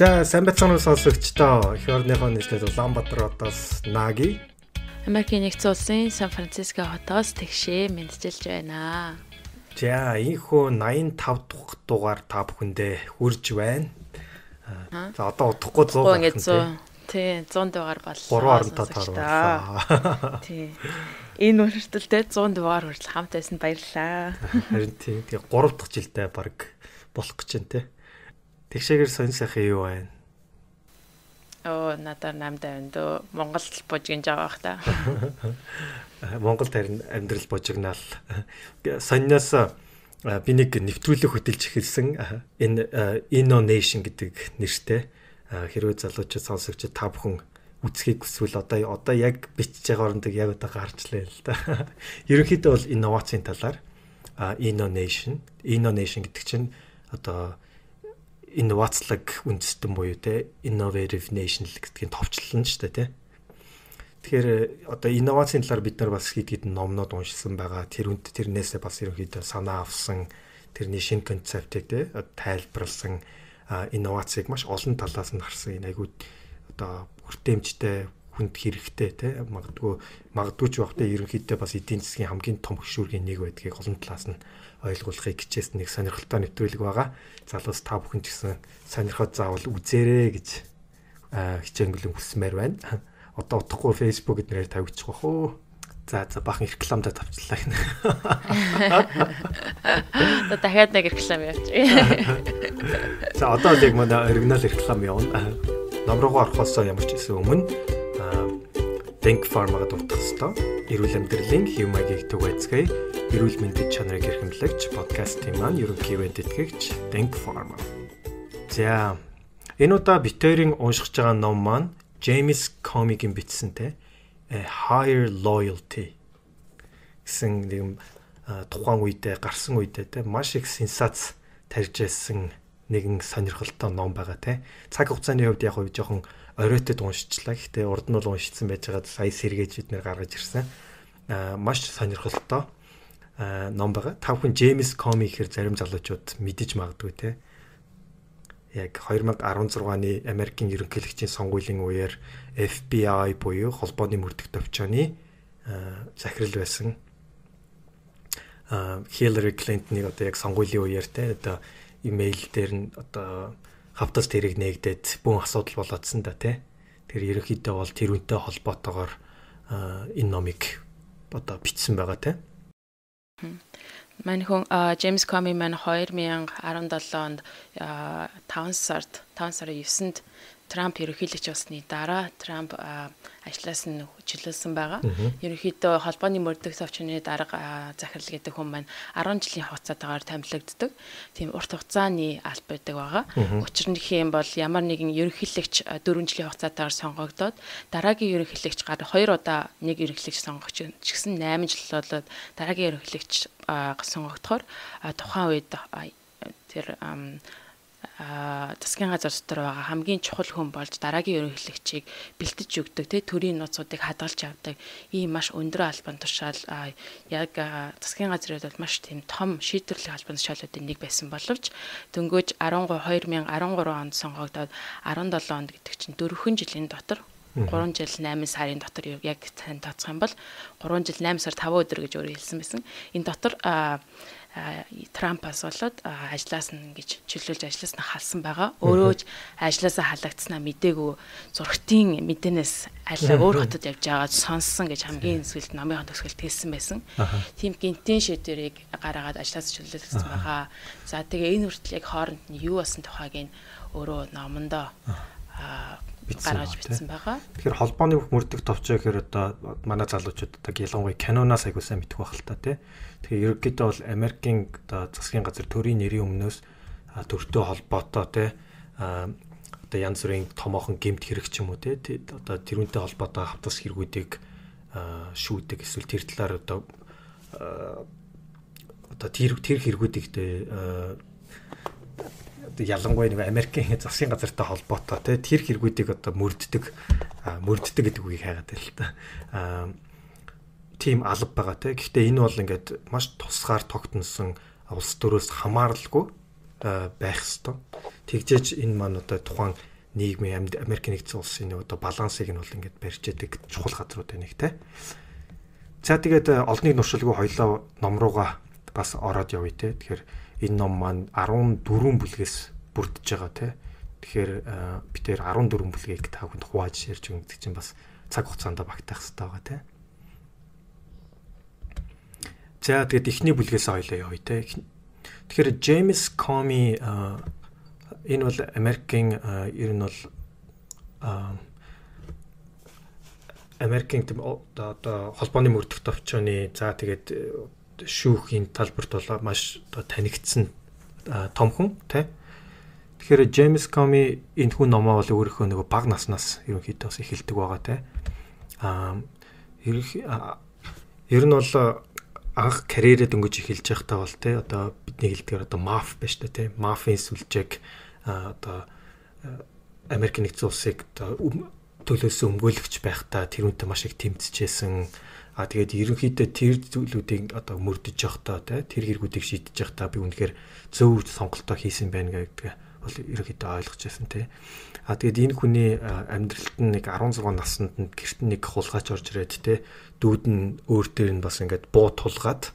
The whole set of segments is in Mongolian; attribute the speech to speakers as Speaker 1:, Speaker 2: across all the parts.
Speaker 1: За сайн байцгаана уу сонсогчдоо. Эх орныхоо нийслэл Улаанбаатароос Наги.
Speaker 2: Америкийн нэгдсэн улсын Сан Франциско хотоос тэгшээ мэдчилж байна.
Speaker 1: За ийхүү 85 дахь дугаар та бүхэндээ хүрж байна. За одоо удахгүй 100 гарах нь.
Speaker 2: Тий 100 дугаар боллоо.
Speaker 1: 3 оронтой тааруулаа.
Speaker 2: Тий. Энэ үргэлжлэлтэй 100 дугаар хүртэл хамт байсан баярлалаа.
Speaker 1: Харин тий 3 дахь жилдээ баг болох гэж байна те. Тэгшээгээр сонь сайхан юу байна?
Speaker 2: Надаар 850 дөө Монгол бужигнж байгаа бах та.
Speaker 1: Монголд харин амьдрал бужигнаал. Сонноос би нэг нэвтрүүлэг хөтэлж эхэлсэн. Энэ Innovation гэдэг нэртэй. Хэрвээ залуучууд сонсогчид та бүхэн үзхийг хүсвэл одоо яг бичиж байгаа орондоо яг одоо гарчлаа л да. Ерөнхийдөө бол инновацийн талаар Innovation гэдэг чинь одоо инновацлог үндэстэн буюу те innovative nation гэдгийн товчлол нь шүү дээ те. Тэгэхээр одоо инновацийн талаар бид нар бас хэд хэдэн номнууд уншсан байгаа. Тэрнээсээ бас ерөнхийдөө санаа авсан тэрний шинэ концептыг те тайлбарласан инновацийг маш олон талаас нь харсан. Энэ айгуу одоо хүртээмжтэй хүнд хэрэгтэй те магадгүй ч багтаа ерөнхийдөө бас эдийн засгийн хамгийн том хөшүүргийн нэг байдгийг олон талаас нь ойлгуулахыг хичээсэн нэг сонирхолтой нэвтрүүлэг байгаа. Залуус та бүхэн ч гэсэн сонирхоод заавал үзээрэй гэж хичээнгэлэн хүсмээр байна. Одоо утгагүй Facebook эднэрээр тавьчих واخ уу. За бахан рекламдаа тавьчлаа гэнэ.
Speaker 2: Дахиад нэг реклам явуулчих.
Speaker 1: За одоо л яг манай оригинал реклам явуулна. Номрогоо орохоос ямар ч гэсэн өмнө Think Pharma-г дутгах ёстой. Эрүүл амьдралын хэв маягийг түгээцгээе. Эрүүл мэндийн чанарыг эрхэмлэгч подкастын маань ерөнхий ивент тэтгэгч Think Pharma. За энэ удаа битэрийн уншиж байгаа ном маань James Comey-гийн бичсэнтэй Higher Loyalty гэсэн нэг тухайн үедээ гарсан үедээ те маш их сенсац тарьж байсан нэгэн сонирхолтой ном байгаа те. Цаг хугацааны хувьд яг нь жоохон оройтод уншчихлаа. Гэхдээ урд нь бол уншицсан байж байгаа сая сэргээж бид нэр гаргаж ирсэн. Маш сонирхолтой ном байгаа. Та бүхэн James Comey гэхэр зарим залуучууд мэдэж магадгүй те. Яг 2016-ны Америкийн ерөнхийлөгчийн сонгуулийн үеэр FBI буюу холбооны мөрдөх төвчөөний захирал байсан. Hillary Clinton-ыг одоо яг сонгуулийн үеэр те одоо имэйл дээр нь одоо хавтас тэрэг нээгдээд бүүн асуудал болоодсан да тий. Тэр ерөнхийдөө бол тэрүүнтэй холбоотойгоор энэ номыг одоо бичсэн байгаа тий.
Speaker 2: Манай хүн James Comey маань 2017 онд 5 сарын 9-нд Трамп ерөнхийлөгч болсны дараа Трамп ажлаас нь чөлөөлсөн байгаа. Ерөнхийдөө холбооны мөрдөх төвчний дарга захирал гэдэг хүн маань 10 жилийн хугацаатаагаар томилогддог. Тийм урт хугацааны алба байдаг байгаа. Учир нь хэм бол ямар нэгэн ерөнхийлөгч 4 жилийн хугацаатаагаар сонгогдоод дараагийн ерөнхийлөгч 2 удаа нэг ерөнхийлөгч сонгогч гэсэн 8 жил болоод дараагийн ерөнхийлөгч сонгогдохоор тухайн үед тэр засгийн газар дотор байгаа хамгийн чухал хүн болж дараагийн ерөнхийлөгчийг бэлтэж өгдөг тий төрийн нууцуудыг хадгалж авдаг ийм маш өндөр албан тушаал яг засгийн газрын хувьд маш тийм том шийдвэрлэх албан тушаалуудын нэг байсан боловч дөнгөж 2013 онд сонгогдоод 17 онд гэдэг чинь 4 жилийн дотор 3 жил 8 сарын дотор яг тань тооцох юм бол 3 жил 8 сар 5 өдөр гэж өөрөө хэлсэн байсан. Энэ дотор Трампаас болоод ажлаас нь ингэж чөлөөлж ажлаас нь халсан байгаа. Өөрөө ч ажлаасаа халагдсанаа мдээгүй зургтын мэдээнээс аль өөр хотод явж байгаад сонссон гэж хамгийн сүүлд номын төгсгөлд хэлсэн байсан. Тийм гинтийн шийдвэрийг гаргаад ажлаас чөлөөлсөн байгаа. За тэгээ энэ хүртэл яг хооронд нь юу болсон тухайг нь өөрөө номондоо гаргаж бичсэн байгаа.
Speaker 1: Тэгэхээр холбооны мөрдөх товчоо гэхээр одоо манай залуучууд одоо ялангуяа киноноос айгуу сайн мэдэх байх л та тий. Тэгэхээр ерөнхийдөө бол Америкийн одоо засгийн газар төрийн нэрийн өмнөөс төртөө холбоотой тий одоо янз бүрийн томоохон гэмт хэрэг ч юм уу тий одоо тэрүүнтэй холбоотой хавтас хэрэгүүдийг шүүдэг эсвэл тэр талаар одоо тэр хэрэгүүдийг ялангуяа нэг Америкийн засгийн газартай холбоотой тэр хэрэгүүдийг одоо мөрддөг гэдэг үгийг хайгаад байл л та. Тийм алба байгаа те. Гэхдээ энэ бол ингээд маш тусгаар тогтносон улс төрөөс хамааралгүй байх ёстой. Тэгжээч энэ маань одоо тухайн нийгмийн Америкийн нэгдсэн улсын одоо балансыг нь бол ингээд барьж яадаг чухал газрууд нэг те. За тэгээд олныг нуршилгүй хоёлоо ном руугаа бас ороод явъя те. Тэгэхээр энэ ном маань 14 бүлгээс бүрдэж байгаа те. Тэгэхээр бид тэр 14 бүлгийг та бүхэнд хувааж ярьж өгөх чинь бас цаг хугацаанд багтаах хэрэгтэй байгаа те. За тэгээд эхний бүлгээс хоёлоо явъя те. Тэгэхээр James Comey энэ бол Америкийн ер нь бол Америкийн одоо холбооны мөрдөх товчооны за тэгээд шүүхийн талбарт бол маш одоо танигдсан том хүн тий. Тэгэхээр James Comey энэ хүн номоо бол өөрийнхөө нөгөө бага наснаас ерөнхийдөө бас эхэлдэг байгаа тий. Ер нь бол анх карьерээ дөнгөж эхэлж байхдаа бол тий одоо бидний хэлдгээр одоо маф байж та тий. Мафийн сүлжээг одоо Америкийн нэгдсэн улсыг төлөөсөө өмгөөлөгч байхдаа тэрүүнтэй маш их тэмцэжсэн. Тэгээд ерөнхийдөө тэр зүйлүүдийг одоо мөрдөж явахдаа тэр хэрэгүүдийг шийдэж явахдаа би үнэхээр зөв сонголтоо хийсэн байна гэдэг бол ерөнхийдөө ойлгож байсан тий. Тэгээд энэ хүний амьдралд нь нэг 16 наснд нь гэрт нэг хулгайч орж ирээд тий. Дүүд нь өөр дээр нь бас ингээд буу тулгаад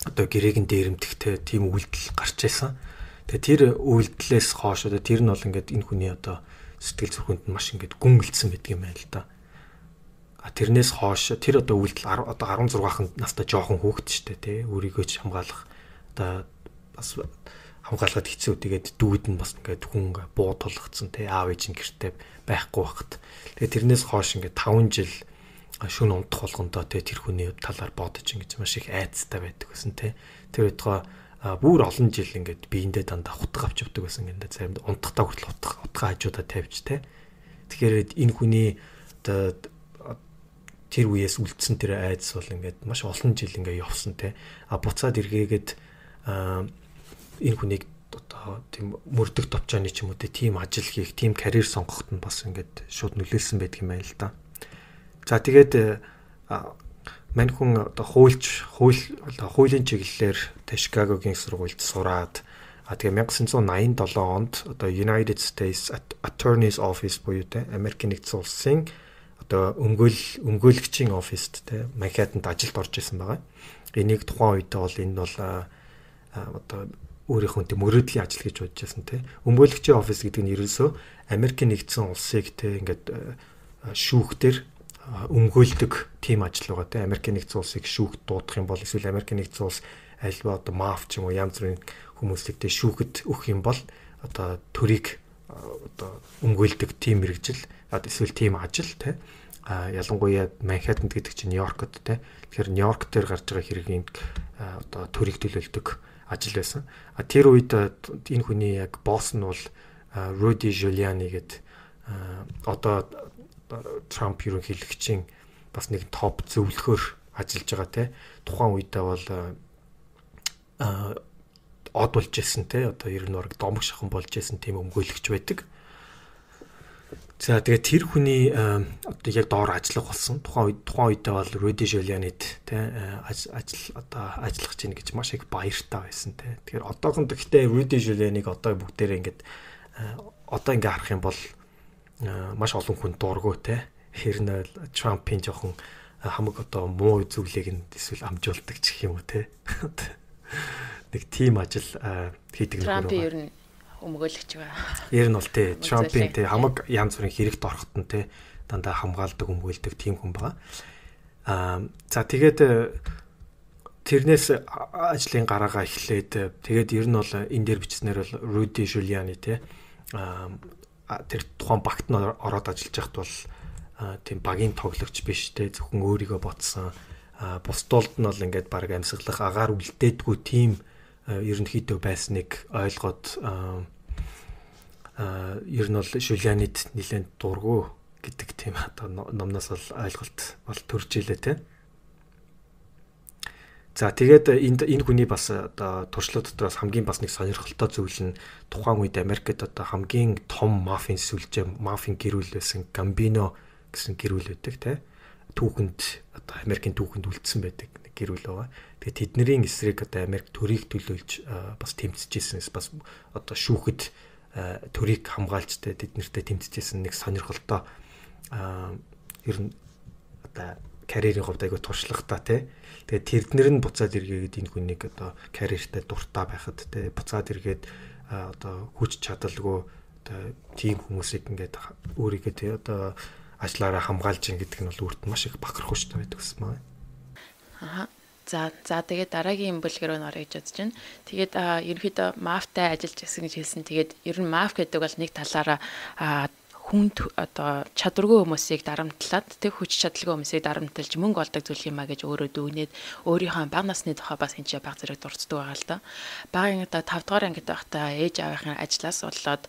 Speaker 1: одоо гэрээг нь дээрэмдэгтэй тийм үйлдэл гарч ирсэн. Тэгээд тэр үйлдэлээс хойш одоо тэр нь бол ингээд энэ хүний одоо сэтгэл зүрхэнд маш ингээд гүн гэлцсэн байдаг юм байна л да. Тэрнээс хойш тэр одоо үйлдэл одоо 16 настай жоохон хүүхэд штэ тий. Өөрийгөө ч хамгаалах одоо бас хамгаалахад хэцүү. Тэгээд дүүд нь бас ингээд хүн буу тулгацсан тий. Аав ээж нь гэртээ байхгүй байхад. Тэгээд тэрнээс хойш ингээд 5 жил шүн унтах болгондоо тий тэр хүний талаар бодож ингэж маш их айцтай байдаг гэсэн тий. Тэр өдгөө бүр олон жил ингээд биендээ дандаа хутга авч явдаг байсан ингээд заримд унтахтаа хүртэл утга хажуудаа тавьж тэ. Тэгэхээр энэ хүний тэр үеэс үлдсэн тэр айдас бол ингээд маш олон жил ингээд явсан тэ. Буцаад эргээгээд энэ хүнийг одоо тийм мөрдөх товчооны ч юм уу тийм ажил хийх, тийм карьер сонгоход нь бас ингээд шууд нөлөөлсөн байдаг юм байна л да. За тэгээд мань хүн одоо хуулийн чиглэлээр Шикагогийн сургуульд сураад тэгээ 1987 онд одоо United States Attorney's Office буюу те Америкийн нэгдсэн улсын одоо өмгөөлөгчийн оффист те Манхэттанд ажилд орж исэн байгаа. Энийг тухайн үедээ бол энэ бол одоо өөрийнхөө тийм мөрөөдлийн ажил гэж бодож байсан те. Өмгөөлөгчийн офис гэдэг нь ерөөсөө Америкийн нэгдсэн улсыг те ингээд шүүхтэр өмгөөлдөг тим ажил байгаа те. Америкийн нэгдсэн улсыг шүүхт дуудах юм бол эсвэл Америкийн нэгдсэн улс альва одоо маф ч юм уу янз бүрийн хүмүүсийг те шүүхэд өгөх юм бол одоо төрийг одоо өмгөөлдөг тим мэрэгжил эсвэл тим ажил те. Ялангуяа Манхэттанд гэдэг чинь Нью-Йоркод те. Тэгэхээр Нью-Йорк дээр гарч байгаа хэргийн одоо төрийг төлөөлдөг ажил байсан. Тэр үед энэ хүний яг босс нь бол Rudy Giuliani гэдэг одоо Трамп ерөнхийлөгчийн бас нэг топ зөвлөхөөр ажиллаж байгаа те. Тухайн үедээ бол од болж ирсэн те. Одоо ер нь орог домог шахан болж ирсэн тийм өмгөөлөгч байдаг. За тэгээд тэр хүний одоо яг доор ажиллах болсон. Тухайн үедээ бол Rudy Giuliani-д те ажиллах чинь гэж маш их баяртай байсан те. Тэгэхээр одоохон гэхдээ Rudy Giuliani-г одоо бүгдээрээ ингээд одоо ингээд харах юм бол маш олон хүн дургу те. Хэрнээ Трампын жоохон хамаг одоо муу зүйлийг нь эсвэл амжуулдаг ч гэх юм уу те. Нэг тим ажил хийдэг нэг
Speaker 2: Трампын ер нь өмгөөлөгч байгаа.
Speaker 1: Ер нь бол те Трампын те хамаг янз бүрийн хэрэгт ороход нь те дандаа хамгаалдаг өмгөөлдөг тим хүн байгаа. За тэгээд тэрнээс ажлын гараагаа эхлээд тэгээд ер нь бол энэ дээр бичснээр бол Rudy Giuliani те тэр тухайн багт нь ороод ажиллаж байхад бол тийм багийн тоглогч биш те зөвхөн өөрийгөө ботсон бусдуулд нь бол ингээд баг амьсгалах агаар үлдээдгүй тийм ерөнхийдөө байсныг ойлгоод ер нь бол Giuliani-д нэлээд дургу гэдэг тийм одоо номноос бол ойлголт бол төрж илээ те. За тэгээд энэ хүний бас одоо туршлага дотроос хамгийн бас нэг сонирхолтой зүйл нь тухайн үед Америкт одоо хамгийн том мафийн сүлжээ мафийн гэрүүл байсан Gambino гэсэн гэрүүл байдаг те. Түүхэнд одоо Америкийн түүхэнд үлдсэн байдаг нэг гэрүүл байгаа. Тэгээд тэдний эсрэг одоо Америк төрийг төлөөлж бас тэмцэж ирсэнээс бас одоо шүүхэд төрийг хамгаалж тэд нэртэй тэмцэжсэн нэг сонирхолтой ер нь одоо карьерийн хувьд айгүй туршлагатай тий. Тэгээд тэрднэр нь буцаад эргээд энэ хүнийг одоо карьертай дуртай байхад тий буцаад эргээд одоо хүч чадалгүй одоо тийм хүмүүсийг ингээд өөрийгөө тий одоо ажлаараа хамгаалж ин гэдэг нь бол өөрт маш их бахархууштай байдаг гэсэн маа.
Speaker 2: Аа. За тэгээд дараагийн бүлгээр нь орё гэж бодож байна. Тэгээд ерөнхийдөө MAF-тай ажиллаж байсан гэж хэлсэн. Тэгээд ер нь MAF гэдэг бол нэг талаараа хүнд одоо чадваргүй хүмүүсийг дарамтлаад тэг хүч чадалгүй хүмүүсийг дарамтлж мөнгө олдог зүйл юм а гэж өөрөө дүгнээд өөрийнхөө бага насны тухай бас энэ баг зэрэг дурддаг байгаа л да. Багын одоо 5 дугаар ангид байхдаа ээж аавынхаа ажлаас болоод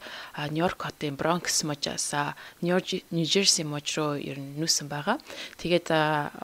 Speaker 2: Нью-Йорк хотын Бронкс мужаас Нью-Жерси муж руу ер нь нүүсэн байгаа. Тэгээд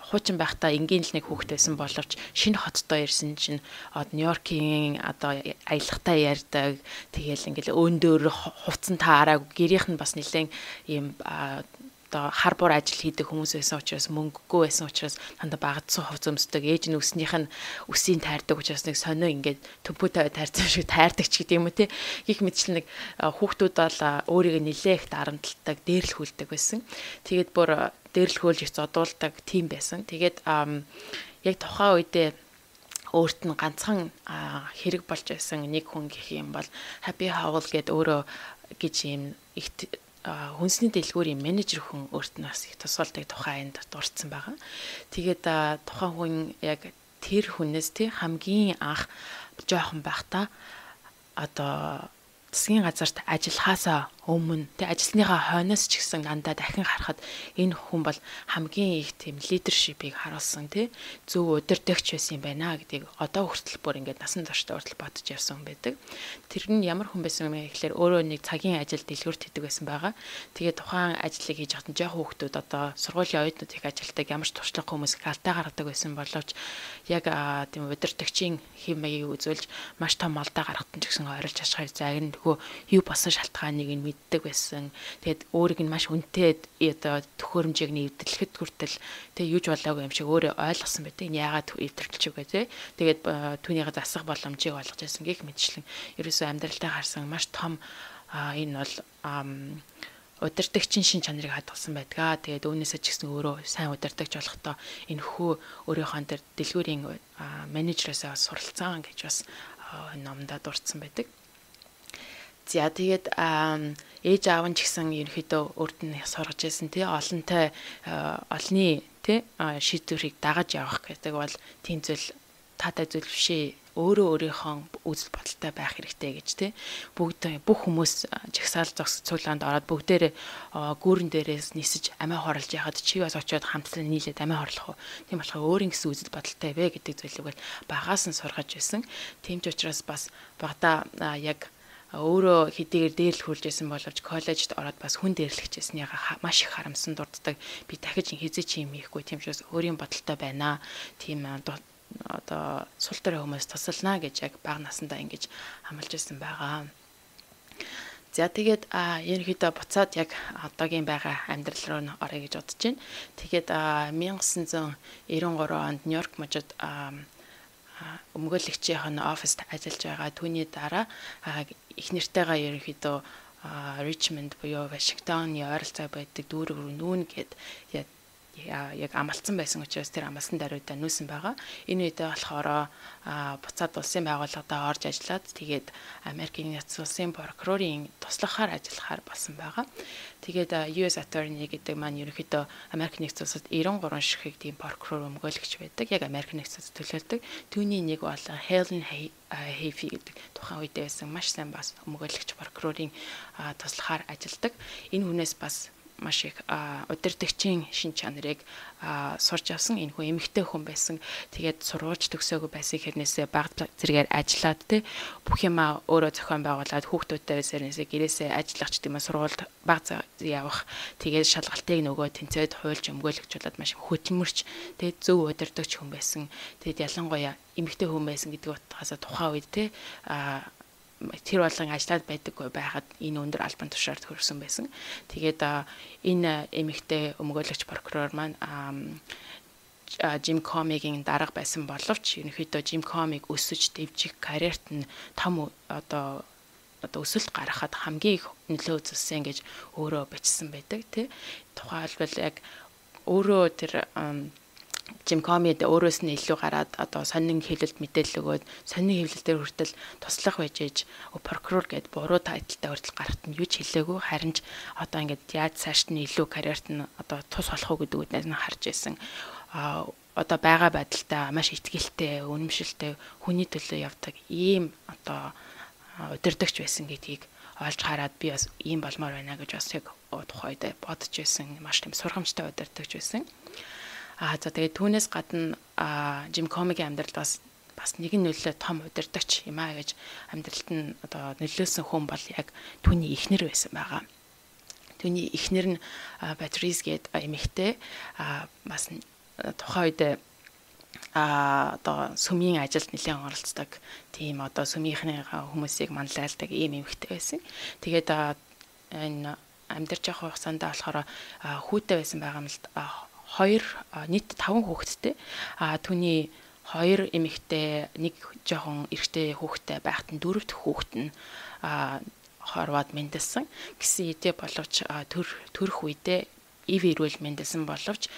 Speaker 2: хуучин байхдаа энгийн л нэг хүүхэд байсан боловч шинэ хоттой ирсэн чинь Нью-Йоркийн одоо аялахтай ярьдаг. Тэгээл ингээл өөндөө хувцсан таараагүй гэрийнх нь бас нэлээд ийм одоо харбор ажил хийдэг хүмүүс байсан учраас мөнгөгүй байсан учраас дандаа багадсан хувц өмсдөг ээж нь өснийх нь өсийн тайрдаг учраас нэг сонио ингээд төмпөтэй тайрсан шиг тайрдаг ч гэдэг юм уу те гих мэтчил нэг хүүхдүүд бол өөрийгөө нилээх дарамтлагдаг дээрлэхүүлдэг байсан. Тэгээд бүр дээрлэхүүлж их зодуулдаг тийм байсан. Тэгээд яг тухайн үедээ өөрт нь ганцхан хэрэг болж байсан нэг хүн гэх юм бол Happy Howl гэдэг өөрөө гэж юм их хүнсний дэлгүүрийн менежер хүн өөрт нь бас их тусгалдаг тухайн энд дурдсан байгаа. Тэгээд тухайн хүн яг тэр хүнээс тий хамгийн анх жоохон байхдаа одоо засгийн газарт ажиллахаасаа өмнө тий ажилсныхаа хойноос ч гэсэн дандаа дахин харахад энэ хүн бол хамгийн их тийм лидершипийг харуулсан тий зөв удирдагч байсан юм байна гэдгийг одоо хүртэл бүр ингээд насан туршдаа хүртэл бодож явсан хүн байдаг. Тэр нь ямар хүн байсан юм гэхээр өөрөө нэг цагийн ажил дэлгүүрт хийдэг байсан байгаа. Тэгээд тухайн ажлыг хийж хатан жоохон хүүхдүүд одоо сургуулийн оюутнууд их ажилтдаг ямар ч туршлага хүмүүс галтай гаргадаг байсан боловч яг тийм удирдагчийн хэм маягийг үзүүлж маш том алдаа гаргахтан ч гэсэн ойрлж ашигыг загнаггүй юу болсон шалтгааныг нь мэддэг байсан. Тэгээд өөрийг нь маш үнэтэй одоо төхөөрөмжийг нэвтрэлэхэд хүртэл тэгээд юуж болоогүй юм шиг өөрөө ойлгосон байдаг. Яагаад нэвтрэлч үгүй те. Тэгээд түүнийгээ засах боломжийг олгож байсан гэх мэтчлэн ерөөсөө амьдралдаа харсан маш том энэ бол удирдагчийн шин чанарыг хадгалсан байдаг. Тэгээд үүнээсээ ч гэсэн өөрөө сайн удирдагч болохдоо энэ хүү өөрийнхөө тэр дэлгүүрийн менежерээсээ суралцсан гэж бас номдоо дурдсан байдаг. За тэгээд ээж аав нь ч гэсэн ерөнхийдөө өөрт нь сургаж байсан тий олонтой олны тий шийдвэрийг дагаж явах гэдэг бол тийм зүйл таатай зүйл бишээ. Өөрөө өөрийнхөө үзэл бодолтой байх хэрэгтэй гэж тий бүх хүмүүс жагсаал зогс цуглаанд ороод бүгдээрээ гүүрэн дээрээс нисэж амиа хорлож яхад чи бас очиод хамтлан нийлээд амиа хорлох уу. Тийм болохоор өөрийн гэсэн үзэл бодолтой вэ гэдэг зүйлийг бол багаас нь сургаж байсан. Тийм ч учраас бас багада яг өөрөө хэдийгээр дээрлэхүүлж байсан боловч коллежид ороод бас хүн дээрлэгчээснийгаа маш их харамсан дурддаг. Би дахиж хизээ чи юм хийхгүй тийм учраас өөрийн бодолтой байна. Тийм одоо сул төрийн хүмүүс тусална гэж яг бага насандаа ингэж хамлаж ирсэн байгаа. За тэгээд ерөнхийдөө буцаад яг одоогийн байгаа амьдрал руу н орё гэж бодож байна. Тэгээд 1993 онд Нью-Йорк мужид өмгөөлөгчийн оффист ажиллаж байгаа. Түүний дараа их нэртэйгээ ерөнхийдөө Richmond буюу Вашингтоны ойролцоо байдаг дүүрэг рүү нүүн гэд яг амлцсан байсан учраас тэр амлсан даруйдаа нүүсэн байгаа. Энэ үедээ болохоор буцаад улсын байгууллагада орж ажиллаад тэгээд Америкийн Нэгдсэн Улсын прокурорын туслахаар ажиллахаар болсон байгаа. Тэгээд US Attorney гэдэг маань ерөнхийдөө Америк Нэгдсэн Улсад 93 ширхэг тийм прокурор өмгөөлөгч байдаг. Яг Америк Нэгдсэн Улсад төлөөлдөг. Түүний нэг бол Helen Heafy гэдэг тухайн үедээ байсан маш сайн бас өмгөөлөгч прокурорын туслахаар ажилладаг. Энэ хүнээс бас маш их удирдагчийн шин чанарыг сурч авсан. Энэ хүн эмэгтэй хүн байсан. Тэгээд сургуулж төгсөөгүй байсан хэрнээсээ бага зэрэгээр ажиллаад те бүх юма өөрөө зохион байгуулад хүүхдүүдтэй сэрнээсээ гэрээсээ ажиллах ч тийм ээ сургуульд бага явах. Тэгээд шалгалтыг нөгөө тэнцээд хуульч өмгөөлөгчүүлээд маш хөдөлмөрч тэгээд зөв удирдагч хүн байсан. Тэгээд ялангуяа эмэгтэй хүн байсан гэдэг утгаас тухайн үед те тэр болгон ажиллаад байдаггүй байхад энэ өндөр албан тушаалд хүрсэн байсан. Тэгээд энэ эмэгтэй өмгөөлөгч прокурор маань Jim Comey-гийн дарга байсан боловч ерөнхийдөө Jim Comey-г өсөж дэвжих карьерт нь том одоо одоо өсөлт гаргахад хамгийн их нөлөө үзүүлсэн гэж өөрөө бичсэн байдаг тий. Тухайлбал яг өөрөө тэр Jim Comey өөрөөс нь илүү гараад одоо сонин хэвлэлд мэдээлэл өгөөд сонин хэвлэл дээр хүртэл туслах байж ээж прокурор гэд буруу тайлтай хүртэл гарахт нь юу ч хэлээгүй харин ч одоо ингээд яаж цааш нь илүү карьерт нь одоо тус болох уу гэдэг үднээс нь харж байсан. Одоо байгаа байдалтай маш ихтгэлтэй, үнэмшилтэй хүний төлөө явдаг ийм одоо удирдагч байсан гэдгийг олж хараад би бас ийм болмоор байна гэж бас яг тухайд бодож байсан. Маш тийм сургамжтай удирдагч байсан. За тэгээд түүнээс гадна Jim Comey-гийн амьдралд бас нэгэн нөлөө том удирдагч юм аа гэж амьдралд нь одоо нөлөөсөн хүн бол яг түүний эхнэр байсан байгаа. Түүний эхнэр нь Patrice гээд эмэгтэй бас тухайн үед одоо сүмийн ажилд нэлээд оролцдог тийм одоо сүмийнхний хүмүүсийг манлайлдаг ийм эмэгтэй байсан. Тэгээд энэ амьдарч явах хугацаанд болохоор хүүтэй байсан байгаа юм л нийт 5 хүүхэдтэй. Түүний 2 эмэгтэй, нэг жоохон эрэгтэй хүүхэдтэй байхад нь 4 дахь хүүхэд нь хорвоод мэндэлсэн. Гэсэн хэдий боловч төрөх үедээ ив ирүүл мэндэлсэн боловч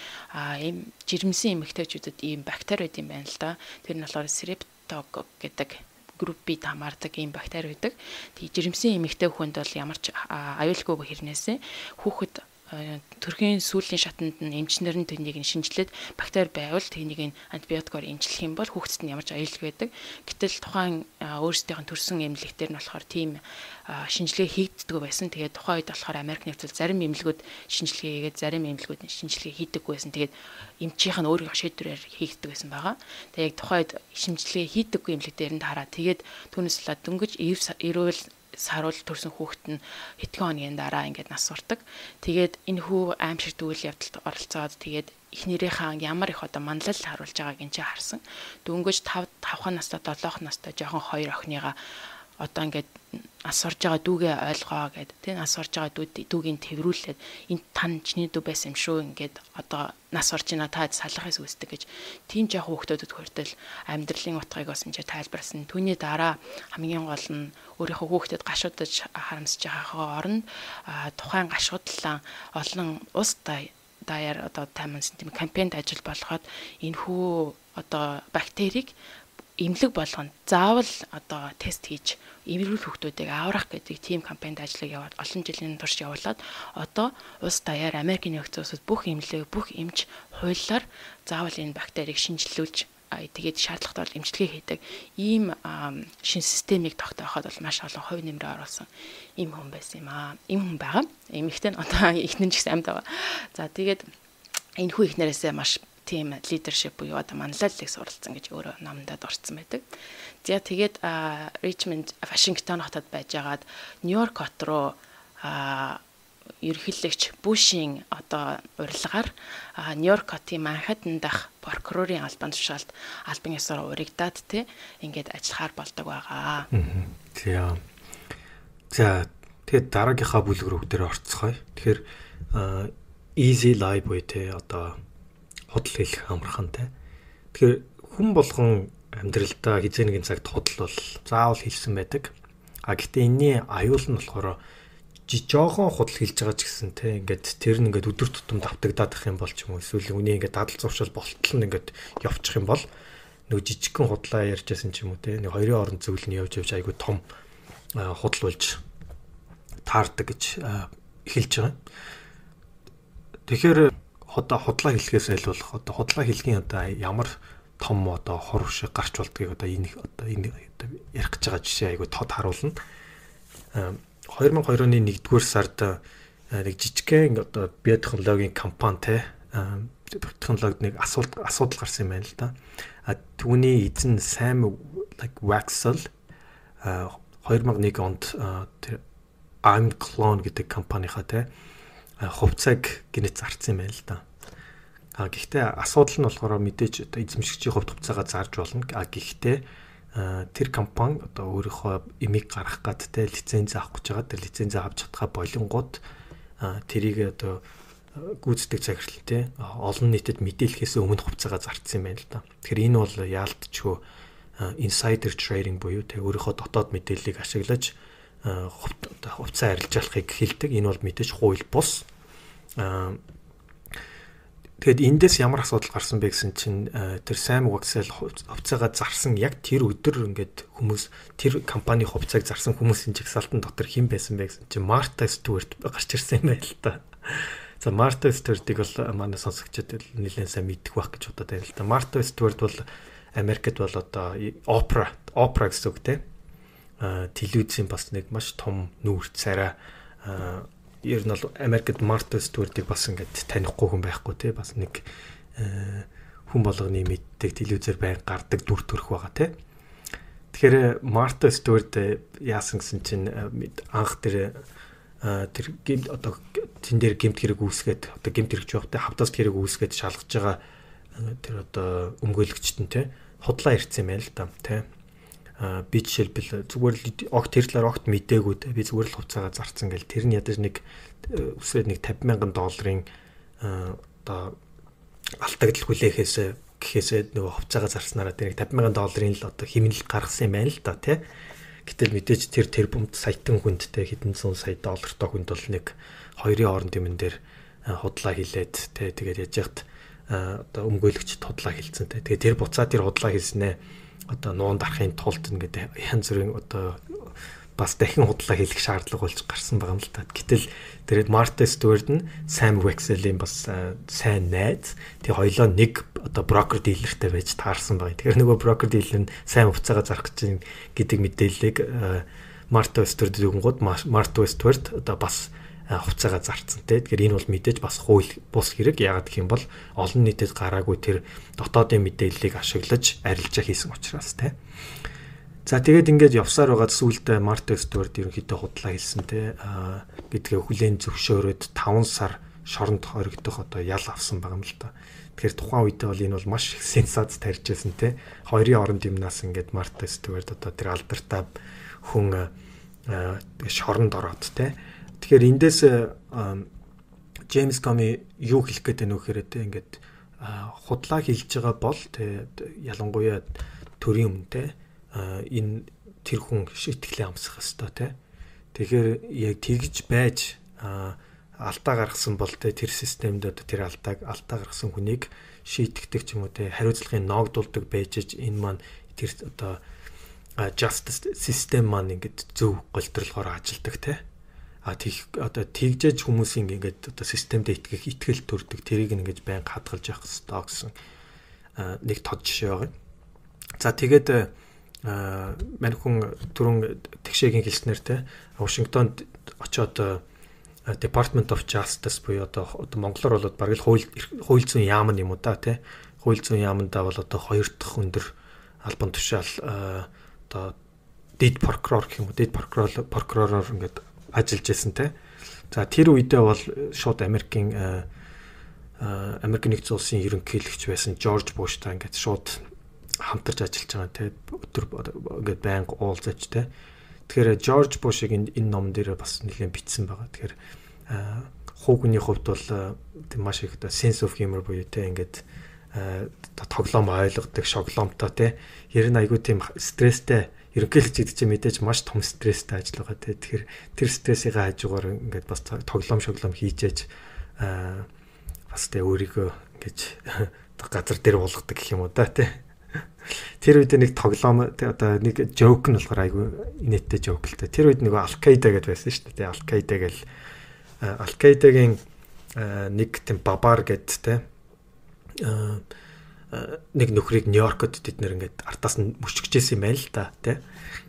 Speaker 2: ийм жирэмсэн эмэгтэйчүүдэд ийм бактери байд юм байна л да. Тэр нь болохоор Streptococcus гэдэг группид хамаардаг ийм бактери байдаг. Тэгээ жирэмсэн эмэгтэй хүнд бол ямар ч аюулгүй хэрнээсээ хүүхэд төрхийн сүүлийн шатанд нь эмчнэр нь тэнийг нь шинжилээд бактери байвал тэнийг нь антибиотикоор эмчлэх юм бол хүүхдэд нь ямар ч аюулгүй байдаг. Гэтэл тухайн өөрсдийнх нь төрсэн эмнэлэгтэр нь болохоор тийм шинжилгээ хийгддэг байсан. Тэгээд тухайн үед болохоор Америк нэгдсэн зарим эмнэлгүүд шинжилгээ хийгээд зарим эмнэлгүүд шинжилгээ хийдэггүй байсан. Тэгээд эмчийнх нь өөрийнхөө шийдвэрээр хийгддэг байсан байгаа. Тэгээд яг тухайн үед шинжилгээ хийдэггүй эмнэлэгтэр нь хараад тэгээд түүнээс л дөнгөж ирүүл саруул төрсэн хүүхэд нь хэдхэн хоногийн дараа ингээд нас сурдаг. Тэгээд энэ хүү аимшигт үйл явдалд оролцоод тэгээд эхнэрийнхээ ямар их одоо манлал харуулж байгааг энэ чинь харсан. Дөнгөж 5 настай 7 настай жоохон 2 охиныгаа одоо ингээд нас сурж байгаа дүүгээ ойлгоо гэд тийм нас сурж байгаа дүүгийн тэрврүүлээд энэ тань чиний дүү байсан юм шүү ингээд одоо нас сурж байна та салахаас үүсдэг гэж тийм жоох хүүхдүүдэд хүртэл амьдралын утгыг бас энэ тайлбарсан. Түүний дараа хамгийн гол нь өөрийнхөө хүүхдэд гашуудаж харамсаж байгаагаа оронд тухайн гашуудлаа олон ус даяар одоо таймс тийм кампанид ажил болгоод энэ хүү одоо бактерийг эмнэлэг болгоно заавал одоо тест хийж эмэрүүл хүүхдүүдийг аврах гэдэг тийм кампанид ажлыг яваад олон жилийн турш явуулаад одоо улс даяар Америкийн нэгдсэн улсад бүх эмнэлэг бүх эмч хуулиар заавал энэ бактерийг шинжилүүлж тэгээд шаардлагатай бол эмчилгээ хийдэг ийм шин системийг тогтооход бол маш олон хувь нэмрээ оруулсан ийм хүн байсан юм аа. Ийм хүн байгаа. Эмэгтэй нь одоо ихнэн ч гэсэн амьд байгаа. За тэгээд энэ хүү ихнэрээсээ маш тийм лидершип буюу одоо манлайллыг суралцсан гэж өөрөө номдод орцсон байдаг. За тэгээд Ричмонд, Вашингтон хотод байжгаад Нью-Йорк хот руу ерөнхийлөгч Бушийн одоо урилгаар Нью-Йорк хотын Манхэттен дах прокурорын албан тушаалд албан ёсоор урагдаад ингээд ажиллахаар болдог байгаа.
Speaker 1: За тэгээд дараагийнхаа бүлэг рүү дээр орцгоё. Тэгэхээр easy life буюу одоо худал хэлэх амархантай. Тэгэхээр хүн болгон амьдралдаа хизээ нэгэн цагт худал бол заавал хэлсэн байдаг. Гэхдээ энэний аюул нь болохоор жоохон худал хэлж байгаа ч гэсэн ингээд тэр нь ингээд өдөр тутам давтагдаад их юм бол ч юм уу эсвэл үний ингээд дадал зуршил болтол нь ингээд явчих юм бол нөгөө жижигхэн худлаа ярьжсэн ч юм уу нэг хоёрын хооронд зөвлөл нь явж айгүй том худал болж таардаг гэж хэлж байгаа. Тэгэхээр одоо худлаа хэлхээс айлуулах одоо худлаа хэлгийн одоо ямар том одоо хор шиг гарч болдгийг одоо энэ ярих гэж байгаа жишээ айгүй тод харуулна. 2002 оны 1-р сард нэг жижигхэн одоо биотехнологийн компани технологид нэг асуудал гарсан юм байна л да. Түүний эзэн Sam Waxel 2001 онд I'm Clone гэдэг компанийнхаа хувьцааг гинэт зарцсан юм байна л да. Гэхдээ асуудал нь болохоор мэдээж одоо эзэмшигчийн хувьд хувьцаагаа зарж болно. Гэхдээ тэр компани одоо өөрийнхөө эмийг гаргах гад лиценз авах гэж байгаа. Тэр лиценз авч чадхаа болонгууд тэрийг одоо гүйцэтгэх захирал олон нийтэд мэдээлэхээс өмнө хувьцаагаа зарцсан юм байна л да. Тэгэхээр энэ бол яалтчгүй insider trading буюу өөрийнхөө дотоод мэдээллийг ашиглаж хувцас арилжаалахыг хэлдэг. Энэ бол мэдээж хууль бус. Тэгэд эндээс ямар асуудал гарсан бэ гэсэн чинь тэр Sam Wexell хувьцаагаа зарсан яг тэр өдөр ингээд хүмүүс тэр компани хувьцааг зарсан хүмүүсийн жагсаалтан дотор хэн байсан бэ гэсэн чинь Martha Stewart гарч ирсэн юм байл та. За Martha Stewart-ыг бол манай сонсогчдод нэлээд сайн мэддэг байх гэж бодоод байна л да. Martha Stewart бол Америкт бол одоо опера гэсэн үг те. Телевизийн бас нэг маш том нүүр царай ер нь бол Америкт Martha Stewart-ыг бас ингээд танихгүй хүн байхгүй те бас нэг хүн болгоны мэддэг телевизээр байн гардаг дүр төрх байгаа те. Тэгэхээр Martha Stewart яасан гэсэн чинь анх тэр одоо тэн дээр гэмт хэрэг үүсгээд одоо гэмт хэрэгч байх те хавтаас хэрэг үүсгээд шалгаж байгаа тэр одоо өмгөөлөгчт нь те худлаа ирсэн юм байна л да те. Би жишээлбэл зүгээр л огт тэр талаар огт мэдээгүй те би зүгээр л хувцаагаа зарцсан гэл тэр нь ядаж нэг үсрээд нэг $50,000 одоо алтагдал хүлээхээс гэхээсээ нөгөө хувцаагаа зарснараа тэр $50,000 л одоо хэмнэл гаргасан юм байна л да те. Гэтэл мэдээж тэр бомт саятан хүндтэй хэдэн зуун сая доллартай хүнд бол нэг хоёрын хооронд юмн дээр худлаа хилээд те тэгээд яж яхад одоо өмгөөлөгчд худлаа хилцэн те. Тэгээд тэр буцаа тэр худлаа хэлснээ одоо нуун дарахын тулд ингээд янз бүрийн одоо бас дахин худлаа хийх шаардлага болж гарсан байгаа юм л та. Гэтэл тэгээд Martha Stewart нь Sam Wexell-ийн бас сайн найз. Тэгээ хоёлоо нэг одоо брокер дилертэй байж таарсан байгаа. Тэгэхээр нөгөө брокер дилер нь сайн хувцаагаа зарах гэж гэдэг мэдээллийг Martha Stewart-д өгөнгүүд Martha Stewart одоо бас хувцаагаа зарцсан те. Тэгэхээр энэ бол мэдээж бас хууль бус хэрэг. Яагаад гэх юм бол олон нийтэд гараагүй тэр дотоодын мэдээллийг ашиглаж арилжаа хийсэн учраас те. За тэгээд ингээд явсаар байгаа сүүлдээ Martha Stewart ерөнхийдөө худлаа хэлсэн те. Гэдгээ хүлээн зөвшөөрөөд 5 сар шоронд хоригдох одоо ял авсан байгаа юм л да. Тэгэхээр тухайн үедээ бол энэ бол маш их сенсац тарьжсэн те. Хоёрын оронд юмнаас ингээд Martha Stewart одоо тэр алдартай хүн шоронд ороод те. Тэгэхээр эндээс James Comey юу хэлэх гээд байна вэ гэхээр те ингээд худлаа хэлж байгаа бол те ялангуяа төрийн өмнө энэ тэр хүн шийтгэлээ амсах хэвээр те. Тэгэхээр яг тэгж байж алдаа гаргасан бол те тэр системд одоо тэр алдаа гаргасан хүнийг шийтгдэг ч юм уу те хариуцлагын ногдуулдаг байж энэ маань тэр одоо justice system маань ингээд зөв голдролгоор ажилдаг те. Тийх одоо тэгжээж хүмүүсийн ингээд одоо системд итгэл төрдөг тэрийг ингээд байн хадгалж явах хэрэгтэй гэсэн нэг тод жишээ байгаа. За тэгээд мань хүн түрүүн тэгшээгийн хэлснээр те Вашингтонд очоод Department of Justice буюу одоо монголоор бол бараг л хууль зүйн яам юм уу да те. Хууль зүйн яамдаа бол одоо 2 дахь өндөр албан тушаал одоо дэд прокурор гэх юм уу дэд прокуророор ингээд ажиллаж байсан те. За тэр үедээ бол шууд Америкийн нэгдсэн улсын ерөнхийлөгч байсан George Bush-тай ингээд шууд хамтарч ажиллаж байгаа те. Өдөр ингээд байнга уулзаж те. Тэгэхээр George Bush-ыг энэ ном дээр бас нэлээд бичсэн байгаа. Тэгэхээр хүүхний хувьд бол маш их sense of humor буюу те ингээд тоглоом ойлгодог, шоглоомтой те. Ер нь айгүй тийм стресстэй ерөнхийлөгч гэдэг чинь мэдээж маш том стресстэй ажил байгаа те. Тэгэхээр тэр стрессийн хажуугаар ингээд бас тоглоом хийжээж бас те өөрийгөө ингэж газар дээр болгодог гэх юм уу да те. Тэр үед нэг тоглоом одоо нэг жоок нь болохоор айгүй инээдтэй жоок л те. Тэр үед нэг Al-Qaeda гэдээ байсан шүү дээ. Al-Qaeda гэл Al-Qaeda-гийн нэг тийм бабар гэд те нэг нөхрийг Нью-Йоркод тэд нэр ингээд артаас нь мөчгөжсэн юм байна л да тий.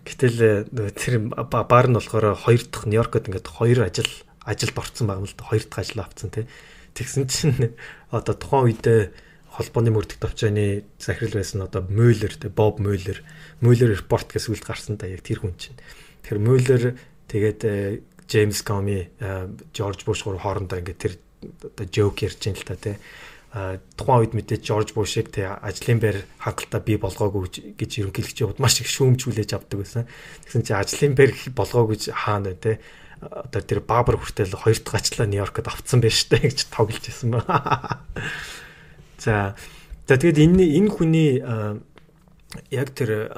Speaker 1: Гэтэл тэр баар нь болохоор 2 дахь Нью-Йоркод ингээд 2 ажилд орсон байгаа юм л да. 2 дахь ажил авцсан тий. Тэгсэн чинь одоо тухайн үедээ холбооны мөрдөх товчооны захирал байсан одоо Mueller тий Bob Mueller report гэсэн үгд гарсан да яг тэр хүн чинь. Тэгэхээр Mueller тэгээд James Comey George Bush хоорондоо ингээд тэр одоо joke ярьж ин л та тий. Тухайн үед мэдээ George Bush-ыг тэ ажлын байр хангалттай бий болгоогүй гэж ерөнхийлөгчид маш их шүүмжүүлж авдаг байсан. Тэгсэн чинь ажлын байр болгоогүй хаана тэ одоо тэр баабар хүртэл 2 дахь ажлаа Нью-Йоркод авцсан байж таа гэж тоглож байсан ба. За тэгээд энэ хүний яг тэр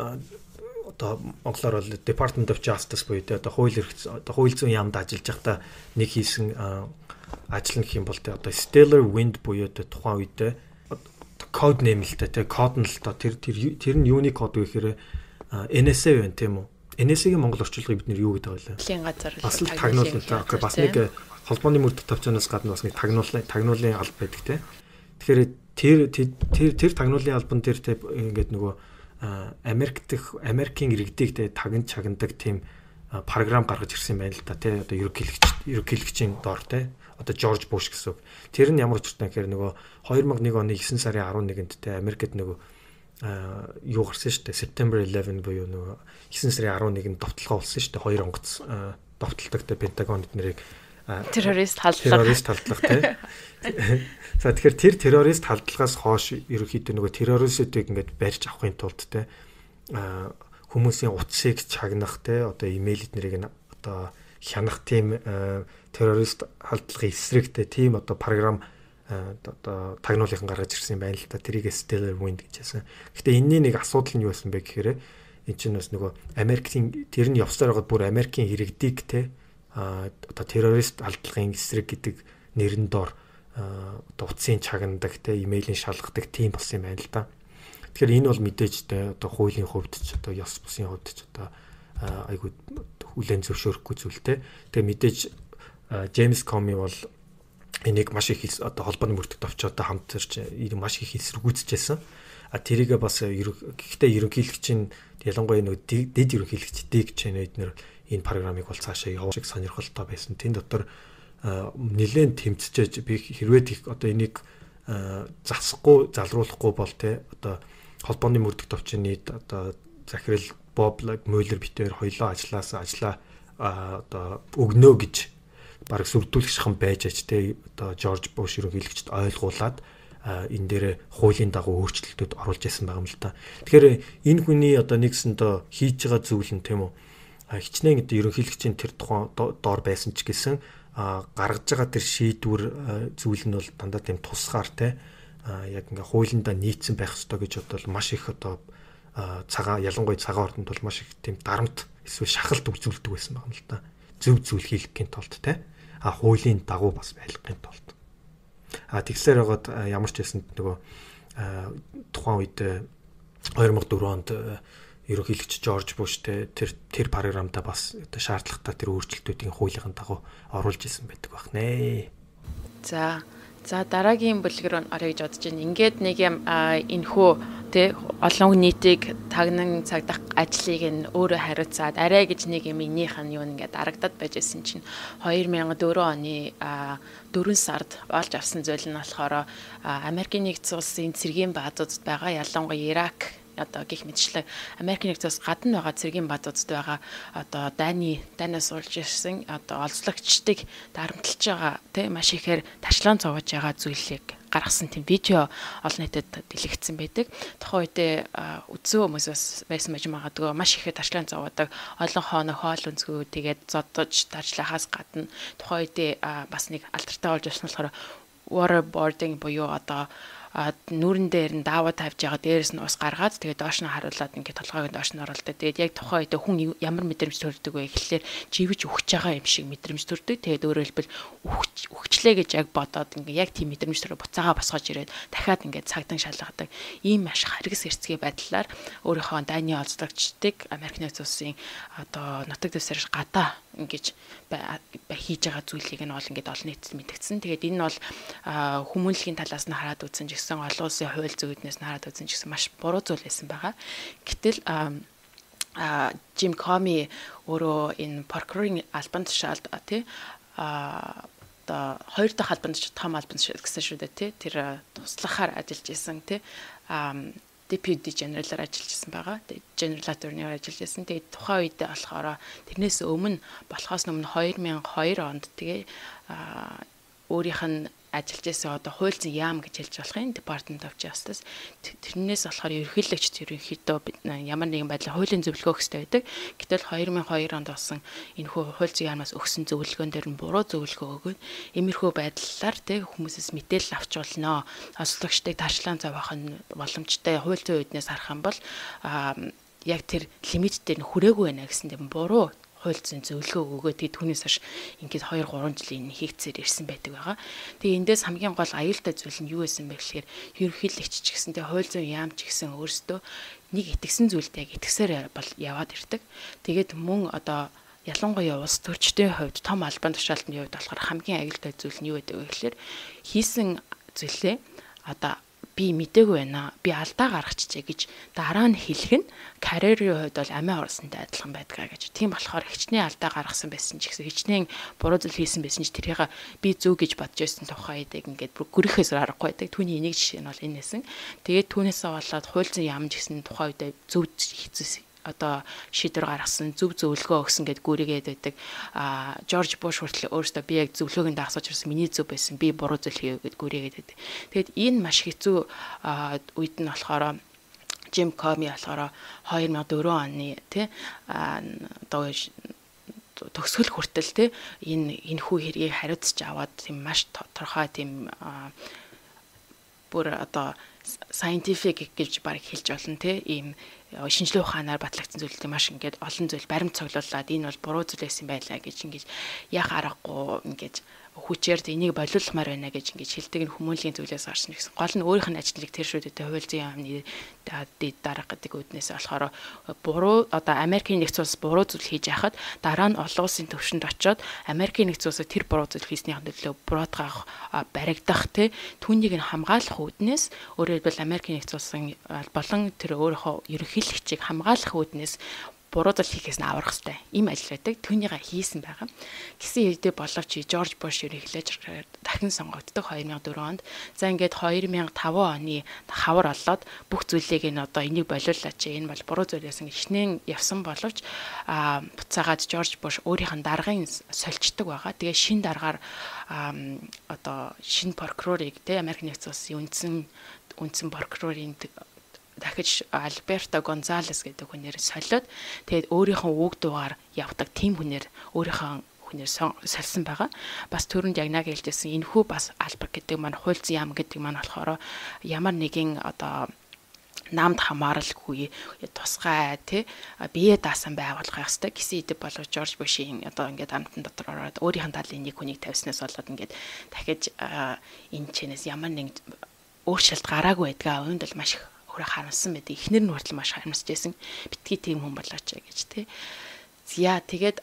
Speaker 1: одоо монголоор бол Department of Justice буюу одоо хууль зүйн яамд ажиллаж байхдаа нэг хийсэн ажил нь гэх юм бол одоо Stellar Wind буюу тухайн үедээ код нэмэлттэй те код нь л та тэр нь юуны код вэ гэхээр NSA байна тийм үү? NSA-гийн монгол орчуулгыг бид нэр юу гэдэг вэ?
Speaker 2: Дэлхийн газар
Speaker 1: бас л тагнуулна. Окей, бас нэг холбооны мөрдөх төвчнөөс гадна бас нэг тагнуулын алба байдаг те. Тэгэхээр тэр тагнуулын албан дээр те ингээд нөгөө Америкийн иргэдийг те чагнадаг тийм програм гаргаж ирсэн байна л да те. Одоо ерөнхийлөгчийн доор те. Одоо Жорж Буш гэсэн. Тэр нь ямар учиртай гэхээр нөгөө 2001 оны 9 сарын 11-нд те Америкт нөгөө юу гарсан шүү дээ. September 11 буюу нөгөө 9 сарын 11-нд довтлогоо болсон шүү дээ. Хоёр онгоц довтлогтой Пентагон эднэрийг
Speaker 2: террорист халдлага
Speaker 1: те. За тэгэхээр тэр террорист халдлагаас хойш ерөнхийдөө нөгөө террористуудыг ингээд барьж авахын тулд те хүмүүсийн утсыг чагнах те одоо имэйл эднэрийг одоо хянах тийм террорист халдлагын эсрэгтэй тийм одоо програм одоо тагнуулын гаргаж ирсэн юм байна л да. Тэрийг Stellar Wind гэж хэлсэн. Гэхдээ энэний нэг асуудал нь юу байсан бэ гэхээр энэ чинь бас нөгөө Америкийн тэр нь явсаар байгаад бүр Америкийн иргэдийг те одоо террорист халдлагын эсрэг гэдэг нэрэн доор одоо утсын чагнадаг те имэйлийн шалгадаг тийм болсон юм байна л да. Тэгэхээр энэ бол мэдээж те одоо хуулийн хувьд ч одоо ёс бусын хувьд ч одоо айгуу хүлээн зөвшөөрөхгүй зүйл те. Тэгээ мэдээж Джеймс Коми бол энийг маш их одоо холбооны мөрдөгт очиод хамтарч маш их эсэргүүцэжсэн. Тэрийгээ бас гэхдээ ерөнхийлөгчийн ялангуяа нэг дэд ерөнхийлөгч дэг чэнэ эднэр энэ програмыг бол цаашаа явуулах сонирхолтой байсан. Тэн дотор нэлээд тэмцэж би хэрвээ их одоо энийг засахгүй залруулахгүй бол те одоо холбооны мөрдөгт очины одоо захирал Боб Мюллер битээр хоёлоо ажиллаа одоо өгнөө гэж бараг сүрдүүлэх шахам байж аж те одоо Жорж Буш ерөнхийлөгчд ойлгуулад энэ дээр хуулийн дагуу өөрчлөлтүүд оруулж ясан байгаа юм л та. Тэгэхээр энэ хүний одоо нэгсэндээ хийж байгаа зүйл нь тийм үү хичнээн одоо ерөнхийлөгчийн тэр тухайн доор байсан ч гэсэн гаргаж байгаа тэр шийдвэр зүйл нь бол дандаа тийм тусгаар те яг ингээ хуулиндаа нийцсэн байх ёстой гэж бодвол маш их одоо ялангуяа цагаан ордонд бол маш их тийм дарамт эсвэл шахалт үзүүлдэг байсан байна л та. Зөв зүйл хийхин тулд те хуулийн дагуу бас байлгахын тулд тэгсээр байгаад ямар ч байсан нөгөө тухайн үед 2004 онд ерөнхийлөгч Жорж Буш тэр програмда бас одоо шаардлагатай тэр өөрчлөлтүүдийн хуулийн дагуу оруулж исэн байдаг байх нэ.
Speaker 2: За дараагийн бүлгэр орё гэж бодож байна. Ингээд нэг юм энэхүү тий олон нийтийг тагнан цагдах ажлыг нь өөрөө хариуцаад арай гэж нэг юм энийх нь юу ингээд дарагдаад байжсэн чинь 2004 оны 4 сард олж авсан зүйл нь болохоор Америкийн нэгдсэн улсын цэргийн баазуудад байгаа ялангуяа Ирак одоо гих мэтчлэг Америкийн нэгдсэн улс гадна байгаа цэргийн баазуудад байгаа одоо дайнаас урж ирсэн одоо олзлогчдыг дарамтлж байгаа тийм маш ихээр ташлаан зовоож байгаа зүйлийг гаргасан тийм видео олон нийтэд дэлгэцсэн байдаг. Тухайн үедээ үзсэн хүмүүс байсан байж магадгүй маш ихээр ташлаан зовоодаг олон хооног хоол үнцгүү тэгээд зодож тарчлахаас гадна тухайн үедээ бас нэг алдартай болж ирсэн болохоор waterboarding буюу одоо нүүрэн дээр нь даавуу тавьж байгаа дээрээс нь ус гаргаад тэгээд доош нь харуулад ингээд толгойг доош нь оруулдаг. Тэгээд яг тухайн үед хүн ямар мэдрэмж төрдөг вэ гэхлээр живж өгч байгаа юм шиг мэдрэмж төрдөг. Тэгээд өөрөөр хэлбэл өгчлээ гэж яг бодоод ингээд яг тийм мэдрэмж төрөө буцаага босгож ирээд дахиад ингээд цагдан шалгадаг. Ийм маш харгас эрсгий байдлаар өөрийнхөө дайны олзлогчдыг Америк нэгдсэн улсын одоо нутаг дэвсгэр гадаа ингэж хийж байгаа зүйлийг нь бол ингээд олон нийтэд мэдгдсэн. Тэгээд энэ бол хүмүүнлэгийн талаас нь хараад үзсэн гэсэн олон улсын хууль зүйднээс хараад үзсэн гэсэн маш буруу зүйл байсан байгаа. Гэтэл Jim Comey өөрөө энэ прокурорын албан тушаалд тий одоо хоёр дахь албан тушаал том албан тушаал гэсэн шүү дээ тий тэр туслахаар ажиллаж исэн тий Deputy General-аар ажиллаж исэн байгаа. General Attorney-аар ажиллаж исэн. Тэгээд тухайн үед болохоор тэрнээс өмнө болохоос өмнө 2002 онд тэгээ өөрийнх нь ажиллаж исэн одоо хууль зүйн яам гэж хэлж болох юм Department of Justice тэрнээс болохоор ерөнхийлөгчд ерөнхийдөө ямар нэгэн байдлаар хуулийн зөвлөгөө өгсөй байдаг. Гэтэл 2002 онд болсон энэхүү хууль зүйн яамаас өгсөн зөвлөгөөн дээр нь буруу зөвлөгөө өгөөд иймэрхүү байдлаар тэг хүмүүсээс мэдээлэл авч болно. Олзлогчдыг тарчлаан зовоох нь боломжтой хууль зүйн үднээс харах юм бол яг тэр лимит дээр нь хүрээгүй байна гэсэндээ буруу хууль зүйн зөвлөгөө өгөөд түүнээс хойш ингээд 2-3 жилийн хийгцээр ирсэн байдаг байгаа. Тэгээ эндээс хамгийн гол аюултай зүйл нь юу байсан бэ гэхээр ерөнхийлөгч ч гэсэнтэй хууль зүйн яамч гэсэн өөрсдөө нэг итгэсэн зүйлд яг итгэсээр бол яваад ирдэг. Тэгээд мөн одоо ялангуяа улс төрчдийн хувьд том албан тушаалтны хувьд болохоор хамгийн аюултай зүйл нь юу гэдэг вэ гэхээр хийсэн зүйлээ одоо би мдээгүй байна. Би алдаа гаргачихжээ гэж дараа нь хэлэх нь карьерийн хувьд бол амиа орсонтой адилхан байдгаа гэж. Тийм болохоор хичнээн алдаа гаргасан байсан ч гэсэн хичнээн буруу зүйл хийсэн байсан ч тэрийг би зөв гэж бодож байсан тухай эдэг ингээд гүрэхээс аргагүй байдаг. Түүний энийг жишээ нь бол энэ нэсэн. Тэгээд түүнээсээ болоод хууль зүйн яамж гэсэн тухай үедээ зөв хийсэн одоо шийдвэр гаргасан зөв зөвлөгөө өгсөн гэд гүрийгээд байдаг. Жорж Буш хүртэл өөрөөсөө би яг зөвлөгөөг нь дагсаж ирсэн. Миний зөв байсан. Би буруу зүйл хийв гэд гүрийгээд байдаг. Тэгэд энэ маш хэцүү үед нь болохоор Жим Коми болохоор 2004 оны тий одоо төгсгөл хүртэл тий энэ хүү хэргийг хариуцж аваад тийм маш тодорхой тийм бүр одоо scientific гэж баг хэлж болно тий ийм шинжлэх ухаанаар батлагдсан зүйлүүд маш ингээд олон зүйл баримт цуглуулад энэ бол буруу зүйл байсан байлаа гэж ингээд яах аргагүй ингээд хүчээр энийг болиулмаар байна гэж ингэж хэлдэг нь хүмүүнлэгийн зүйлээс гарсан гэсэн. Гол нь өөрийнх нь ажлыг тэр шүүдэд хууль зүйн яамны дарга гэдэг үднээс болохоор буруу одоо Америкийн нэгдсэн улс буруу зүйл хийж яхад дараа нь олон улсын төвшөнд очиод Америкийн нэгдсэн улсыг тэр буруу зүйл хийснийхэн төлөө буруутгах баригдах түүнийг нь хамгаалах үднээс өөрөөр хэлбэл Америкийн нэгдсэн улсын болон тэр өөрийнхөө ерөнхийлөгчийг хамгаалах үднээс буруу зүйл хийхээс нь аврах хэрэгтэй. Ийм ажил байдаг. Түүнийг хийсэн байгаа. Гэсэн хэдий боловч Жорж Буш ерөнхийлөгч дахин сонгогддог 2004 онд. За ингээд 2005 оны хавар олоод бүх зүйлийг нь одоо энийг болиулаач. Энэ бол буруу зүйлээс хичнээн явсан боловч буцаагаад Жорж Буш өөрийнх нь даргын сольждаг байгаа. Тэгээ шин даргаар одоо шинэ прокурорыг Америк нэгдсэн улсын үндсэн прокурорын дахиж Альберто Гонзалес гэдэг хүнээр солиод тэгээд өөрийнхөө үг дуугаар явдаг тийм хүнээр сольсон байгаа. Бас түрүүнд яг нэг хэлжсэн энэхүү бас албар гэдэг маань хууль зүйн яам гэдэг маань болохоор ямар нэгэн одоо намд хамааралгүй тусгай бие даасан байгуулах ёстой гэсэн идэв болов Жорж Бушийн одоо ингээд амтан дотор ороод өөрийнх нь талын нэг хүнийг тавьснаас болоод ингээд дахиж энэ чэнэс ямар нэг өөрчлөлт гараагүй байдгаа үүнд л маш харамсан байдаг. Эхнэр нь хүртэл маш харамсаж байсан. Битгий тийм хүн болооч гэж тий. За тэгээд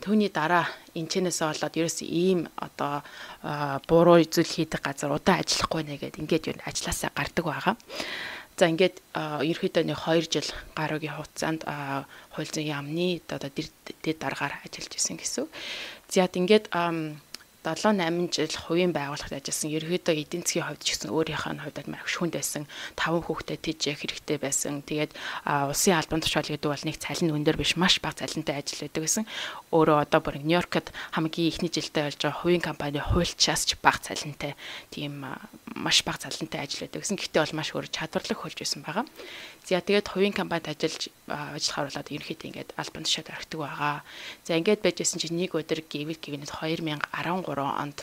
Speaker 2: түүний дараа энэчнээс болоод ерөөс ийм одоо буруу зүйл хийдэг газар удаан ажиллахгүй нэ гэд ингээд юу ажилласаа гардаг байгаа. За ингээд ерөөхдөө нэг 2 жил гаруйгийн хугацаанд хууль зүйн яамны одоо дээд дараагаар ажиллаж исэн гэсэн. За ингээд 7-8 жил хувийн байгууллагад ажилласан ерөөдөө эдийн засгийн хувьд ч гэсэн өөрийнх нь хувьд маш хүнд байсан. 5 хүүхдэд тэжээх хэрэгтэй байсан. Тэгээд улсын албан тушаал гэдэг бол нэг цалин өндөр биш, маш бага цалинтай ажил байдаг гэсэн. Өөрөө одоо бүр Нью-Йоркт хамгийн ихний жилдээ болж байгаа хувийн компани хуульчаас ч бага цалинтай тийм маш бага цалинтай ажил байдаг гэсэн. Гэхдээ бол маш өөр чадварлаг хөлж байсан байгаа. За тэгээд хувийн компанид ажиллахаар болоод ерөнхийдөө ингээд албан тушаал орхидог байгаа. За ингээд байжсэн чинь нэг өдөр гэвэл гівнэд 2013 онд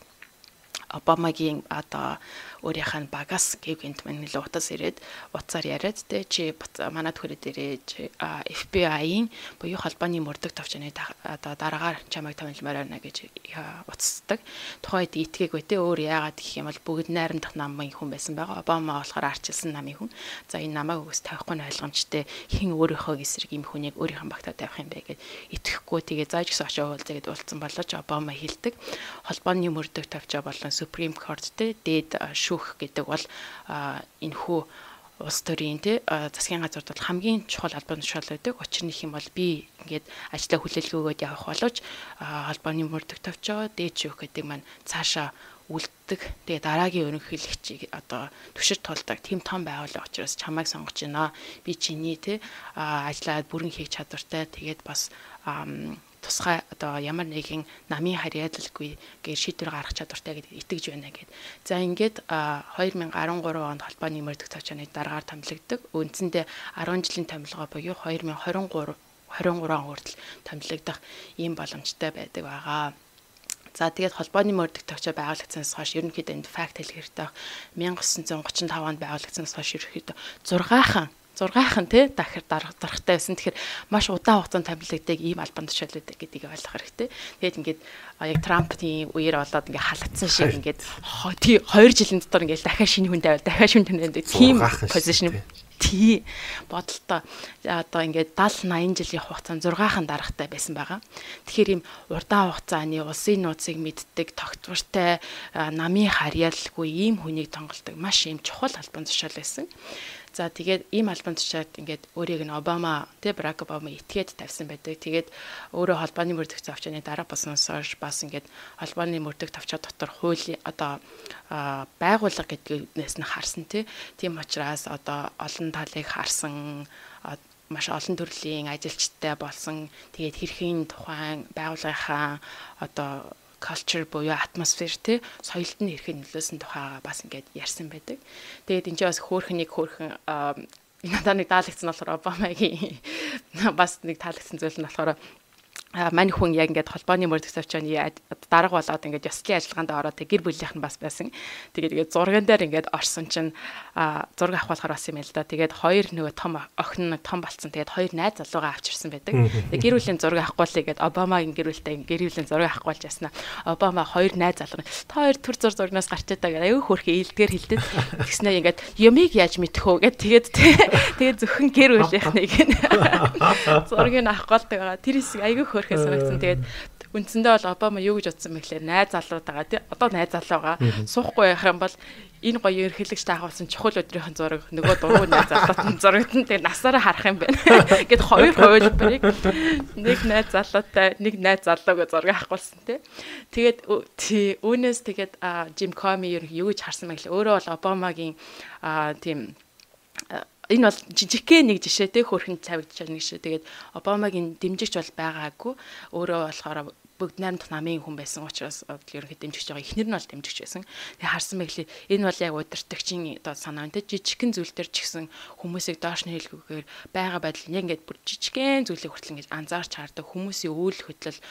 Speaker 2: Обамагийн одоо өөрийнх нь багаас гівгэнт мань нэлээд утас ирээд уцаар яриад чи манад хүрээд ирээ FBI-ийн буюу холбооны мөрдөх товчны одоо дараагаар чамайг томилмоор байна гэж уцсдаг. Тухайд итгээгүй өөр яагаад гэх юм бол бүгд найрамдах намын хүн байсан байгаа. Обама болохоор арчилсан намын хүн. За энэ намайг үгүйс тавихгүй нь ойлгомжтой. Хин өөрийнхөө эсрэг юм хүнийг өөрийнх нь багтаа тавих юм бэ гэд итгэхгүй тэгээ зааж гисэн очоо уулзаа гэд уулзсан болооч Обама хэлдэг. Холбооны мөрдөх товчоо болон Supreme Court дээд шүүх гэдэг бол энэхүү улс төрийн засгийн газарт бол хамгийн чухал албан тушаал байдаг. Учир нь их юм бол би ингээд ажлаа хүлээлгөөгөөд явах боловч холбооны мөрдөх товчоо дээд шүүх гэдэг маань цаашаа үлддэг. Тэгээ дараагийн ерөнхийлөгчийг одоо түшир тулдаг тийм том байгууллага учраас чамайг сонгож байна. Би чиний ажлаа бүрэн хийх чадвартай. Тэгээд бас тусгай одоо ямар нэгэн намын харьяалалгүй гэж шийдвэр гаргах чадвартай гэдэгт итгэж байна гэд. За ингээд 2013 онд холбооны мөрдөх товчооны дараагаар томилогддог. Үндсэндээ 10 жилийн томилгоо буюу 2023 он хүртэл томилогдох ийм боломжтой байдаг байгаа. За тэгээд холбооны мөрдөх товчоо байгуулагдсанаас хойш ерөнхийдөө энд факт хэлэх хэрэгтэй. 1935 онд байгуулагдсанаас хойш ерөнхийдөө 6 6-хан тий дахир дарахтай байсан. Тэгэхээр маш удаан хугацаанд томилогддог ийм албан тушаалууд гэдгийг ойлгох хэрэгтэй. Тэгээд ингээд яг Трампын үеэр болоод ингээд халагдсан шиг ингээд 2 жилийн дотор ингээд дахиад шинэ хүн тавиал дахиад шинэ хүн тавиал тийм позишн тий бодолтой одоо ингээд 70-80 жилийн хугацаанд 6хан дарахтай байсан байгаа. Тэгэхээр ийм урдаан хугацааны улсын нууцыг мэддэг, тогтвортой, намын харьяалгүй ийм хүнийг тонголдог маш ийм чухал албан тушаал байсан. За тэгээд ийм албан тушаалд ингээд өөрийг нь Обама тий Барак Обама этгээд тавьсан байдаг. Тэгээд өөрөө холбооны мөрдөх товчооны дараа болсноос хойш бас ингээд холбооны мөрдөх товчоо дотор хуулийн одоо байгууллага гэдгээс нь харсан тий. Тийм учраас одоо олон талыг харсан маш олон төрлийн ажилчтай болсон. Тэгээд хэрхийн тухайн байгууллагынхаа одоо culture буюу атмосфер тий соёлд нь хэрхэн нөлөөсөн тухайга бас ингээд ярьсан байдаг. Тэгээд энэ ч бас хөөхнийг надад нэг таалагдсан болохоор Обамагийн бас нэг таалагдсан зүйл нь болохоор мань хүн яг ингээд холбооны мөрдөх төвчөөний дарга болоод ингээд ёслолын ажиллагаанд ороод гэр бүлийнх нь бас байсан. Тэгээд зурган дээр ингээд орсон чинь зураг авах болохоор бас юм л да. Тэгээд хоёр нөгөө том охин том болцсон. Тэгээд хоёр найз залуугаа авчирсан байдаг. Тэгээд гэр бүлийн зураг авахгүй л гээд Обамагийн гэр бүлтэй гэр бүлийн зураг авахгүй болж яснаа. Обама хоёр найз залуу та хоёр төр зургнаас гарчаад байгаа. Аюу хөөрхөн ээлдгээр хилдэд тэгснээр ингээд юмыг яаж мэдэх вэ гэд тэгээд зөвхөн гэр бүлийнхнийг зургийг авах гол байгаа. Тэр хэсэг аюу хөрхөөс санагдсан. Тэгээд үндсэндээ бол Обама юу гэж утсан бэ гэхээр найз залуудагаа тий одоо найз залуугаа суухгүй байх юм бол энэ гоё ерхийлэгч таахуулсан чухал өдрийнхэн зураг нөгөө дургуй найз залуутын зурагт нь тэгээд насаараа харах юм байна. Гэт хоёр хувилбарыг нэг найз залуутай нэг найз залууг зураг авахгүйсэн тий. Тэгээд үүнээс тэгээд Жим Коми юу гэж харсан бэ гэхээр өөрөө бол Обамагийн тийм энэ бол жижигхэн нэг жишээ те хөрхэн цавигдчихсан нэг жишээ. Тэгээд Обамагийн дэмжигч бол байгаагүй. Өөрөө болохоор бүгд найрамдах намын хүн байсан учраас ерөнхийдөө дэмжигч байгаа. Эхнэр нь бол дэмжигч байсан. Тэгээд харсан мэхлээ энэ бол яг удирдагчийн одоо санаа те жижигхэн зүйл төр ч гэсэн хүмүүсийг доош нь хэлгүйгээр байгаа байдал яг ингээд бүр жижигхэн зүйлийг хүртэл ингээд анзаарч хардаг хүмүүсийн үйл хөдлөл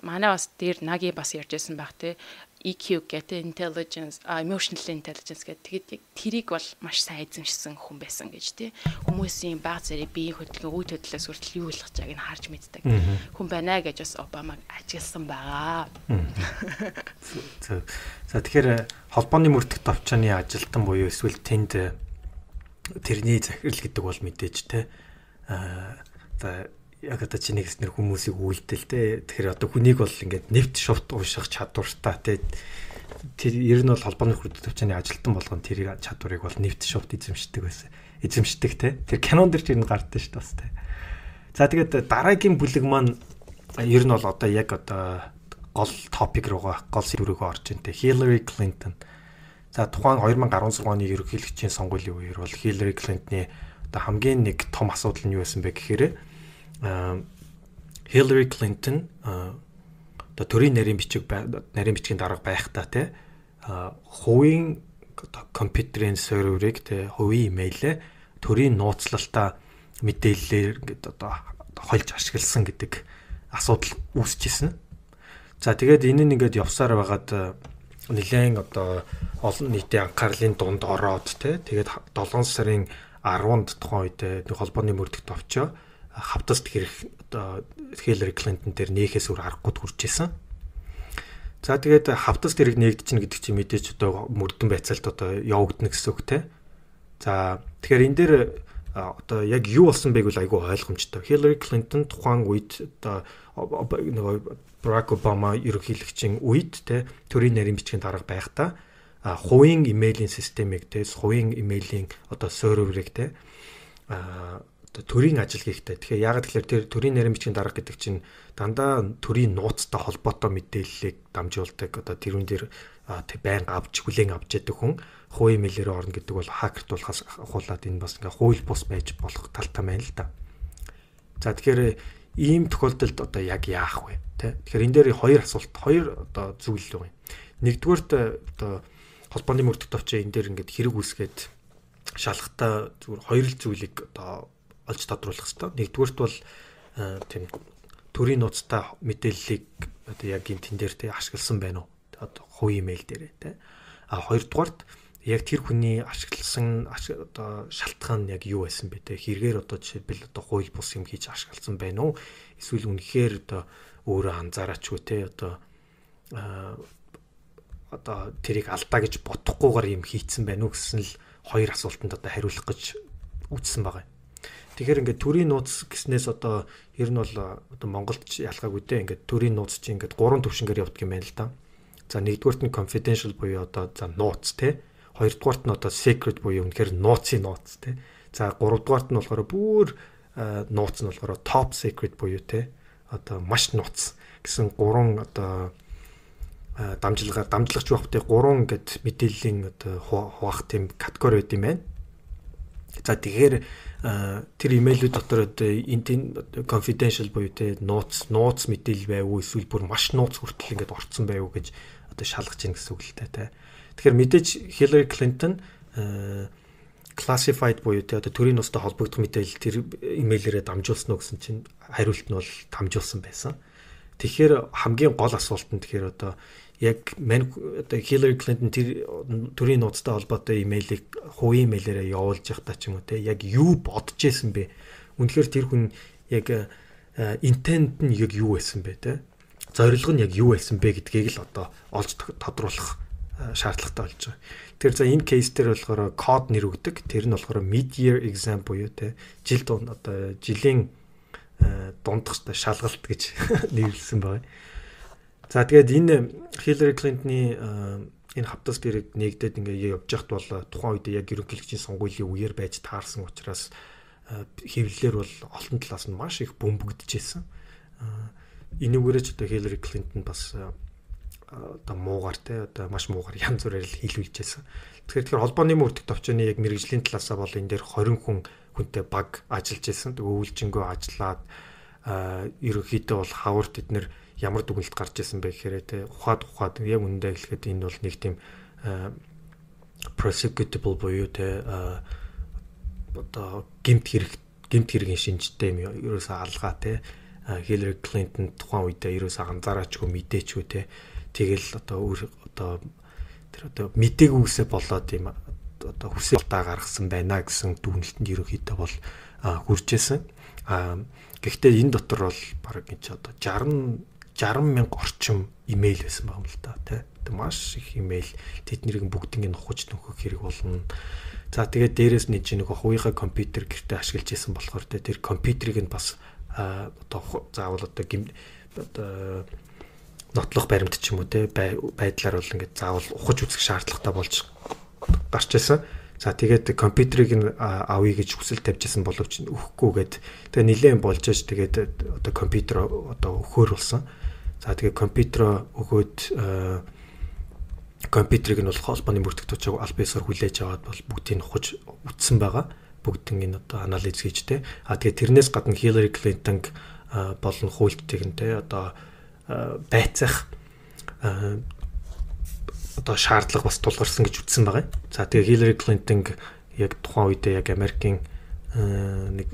Speaker 2: манай бас дээр наги бас ярьжсэн байх те EQ гэдэг intelligence, emotional intelligence гэдэг тэрийг бол маш сайн эзэмшсэн хүн байсан гэж тий. Хүмүүсийн баг зэрэг биеийн хөдөлгөөн үйл хөдлөлөөс хүртэл юу болох чагийг нь харж мэддэг. Хүн байна гэж бас Обамаг ажигласан байгаа.
Speaker 1: За тэгэхээр холбооны мөрдөх товчооны ажилтан буюу эсвэл тэнд тэрний захирал гэдэг бол мэдээж тий. За яг одоо чиний гэснээр хүмүүсийг үйлдэл те. Тэгэхээр одоо хүнийг бол ингээд нэвт шувт уушгах чадвартай те. Тэр ер нь бол холбооны мөрдөх төвчний ажилтан болгон тэр чадварыг бол нэвт шувт эзэмшдэг байсан. Эзэмшдэг те. Тэр кинон дэр чинь гардаг шүү дээ бас те. За тэгээд дараагийн бүлэг маань ер нь бол одоо яг одоо гол топик руугаа гол сэдвүүрөөгөө орж ин те. Hillary Clinton. За тухайн 2016 оны ерөнхийлөгчийн сонгуулийн үеэр бол Hillary Clinton-ы одоо хамгийн нэг том асуудал нь юу байсан бэ гэхээр Hillary Clinton одоо төрийн нарийн бичгийн дарга байхдаа те хувийн компьютерийн серверыг те хувийн имэйлээ төрийн нууцлалтаа мэдээллээр ингээд одоо хольж ашигласан гэдэг асуудал үүсчихсэн. За тэгээд энэ нь ингээд явсаар байгаад нэлээд одоо олон нийтийн анхаарлын дунд ороод те тэгээд 7 сарын 10-нд тухайн үед нэг холбооны мөрдөх товчоо хавтаст хэрэг одоо Hillary Clinton дээр нээхээс өөр аргагүй хүрч исэн. За тэгээд хавтаст хэрэг нээгдэж чинь гэдэг чинь мэдээж одоо мөрдөн байцаалт одоо явагдана гэсэн үг те. За тэгэхээр энэ дээр одоо яг юу болсон байг бол айгүй ойлгомжтой. Hillary Clinton тухайн үед одоо нөгөө Barack Obama ерөнхийлөгчийн үед те төрийн нарийн бичгийн дарга байхдаа хувийн имэйлийн системийг те хувийн имэйлийн одоо серверыг те төрийн ажил хийхтэй. Тэгэхээр яагаад тэгэхээр тэр төрийн нарийн бичгийн дарга гэдэг чинь дандаа төрийн нууцтай холбоотой мэдээллийг дамжуулдаг. Одоо тэрүүн дээр байнга авч хүлээн авч яадаг хүн хувийн имэйлээр орно гэдэг бол хакертуулахаас ахуулаад энэ бас ингээ хууль бус байж болох талтай байна л да. За тэгэхээр ийм тохиолдолд одоо яг яах вэ? Тэгэхээр энэ дээр хоёр одоо зүйл байгаа юм. Нэгдүгээрт одоо холбооны мөрдөх товчоо энэ дээр ингээд хэрэг үүсгээд шалгахтаа зүгээр хоёр л зүйлийг одоо олж тодруулах хэрэгтэй. Нэгдүгээрт бол тийм төрийн нууцтай мэдээллийг одоо яг энэ тэн дээр те ашигласан байна уу? Одоо хувийн имэйл дээр те. А хоёрдугаарт яг тэр хүний ашигласан одоо шалтгаан нь яг юу байсан бэ те хэрэгээр одоо жишээлбэл одоо хууль бус юм хийж ашигласан байна уу эсвэл үнэхээр одоо өөрөө анзаараач үү те одоо тэрийг алдаа гэж бодохгүйгээр юм хийцэн байна уу гэсэн л хоёр асуултанд одоо хариулах гэж үзсэн байгаа. Тэгэхээр ингээд төрийн нууц гэснээс одоо ер нь бол одоо Монголд ялгаагүй дээ ингээд төрийн нууц чинь ингээд 3 төвшингээр явдаг юм байна л да. За нэгдүгээрт нь confidential буюу одоо за нууц те. Хоёрдугаарт нь одоо secret буюу үнэхээр нууцын нууц те. За гуравдугаарт нь болохоор бүр нууц нь болохоор top secret буюу те. Одоо маш нууц гэсэн 3 одоо дамжлагч багтыг 3 ингээд мэдээллийн одоо хуваах тийм категори байд юм байна. За тэгэхээр тэр имэйлүүд дотор одоо confidential буюу те нууц мэдээлэл байв уу эсвэл бүр маш нууц хүртэл ингээд орцсон байв уу гэж одоо шалгаж ийн гэсэн үг л те. Тэгэхээр мэдээж Hillary Clinton classified буюу те одоо төрийн нуустай холбогдох мэдээлэл тэр имэйлээрээ дамжуулсан уу гэсэн чинь хариулт нь бол дамжуулсан байсан. Тэгэхээр хамгийн гол асуулт нь тэгэхээр одоо яг одоо Hillary Clinton тэр төрийн нууцтай холбоотой имэйлийг хувийн имэйлээрээ явуулж явахдаа ч юм уу те яг юу бодож исэн бэ? Үнэхээр тэр хүн яг intent нь яг юу байсан бэ те? Зорилго нь яг юу байсан бэ гэдгийг л одоо олж тодруулах шаардлагатай болж байгаа. Тэр за энэ кейс дээр болохоор код нэр өгдөг. Тэр нь болохоор mid-year exam буюу те жил дунд одоо жилийн дундах шалгалт гэж нэрлсэн байна. За тэгээд энэ Hillary Clinton-ы энэ хавтас дээрээ нэгдээд ингээ явж яхад бол тухайн үед яг ерөнхийлөгчийн сонгуулийн үеэр байж таарсан учраас хэвлэлээр бол олон талаас нь маш их бөмбөгдөжсэн. Энүүгээрээ ч одоо Hillary Clinton бас одоо муугар те одоо маш муугар янз бүрээр л хийлүүлжсэн. Тэгэхээр холбооны мөрдөх товчооны яг мэрэгжлийн талаасаа бол энэ дээр 20 хүнтэй баг ажиллаж байсан. Өвөлжингөө ажиллаад ерөнхийдөө бол хавар тэднэр ямар дүгнэлт гарч ирсэн бэ гэхээр те ухаад яг үнэндээ хэлэхэд энэ бол нэг тийм prosecutable буюу те одоо гэмт хэргийн шинжтэй юм ерөөсөө алгаа те Hillary Clinton тухайн үедээ ерөөсөө анзаараачгүй мэдээчгүй те тэгэл одоо тэр одоо мдэггүйсээ болоод юм одоо хүсэлтаа гаргасан байна гэсэн дүгнэлтэнд ерөнхийдөө бол хүрчээсэн. Гэхдээ энэ дотор бол баг энэ ч одоо 60 мянга орчим имэйл байсан байгаа юм л да тий. Маш их имэйл тэднийг бүгднийг нухаж нөхөх хэрэг болно. За тэгээд дээрэс нь чинь нэг хувийнхаа компьютер гэртээ ашиглаж исэн болохоор тэр компьютерийг нь бас одоо заавал одоо нотлох баримт ч юм уу те байдлаар бол ингээд заавал ухаж үзэх шаардлагатай болж гарч ирсэн. За тэгээд компьютерийг нь авъя гэж хүсэл тавьжсэн боловч өгөхгүйгээд тэгээ нилээн болж аж тэгээд одоо компьютер одоо өгөхөр болсон. За тэгээд компьютер өгөөд компьютерийг нь бол холбооны мөрдөх төвчөг аль биесээр хүлээж аваад бол бүгдийг нь ухаж үтсэн байгаа. Бүгдийг нь одоо анализ хийж те. Тэгээд тэрнээс гадна Hillary Clinton болон хуульчдыг нь те одоо байцаах одоо шаардлага бас тулгарсан гэж үздсэн байгаа. За тэгээ Hillary Clinton яг тухайн үедээ яг Америкийн нэг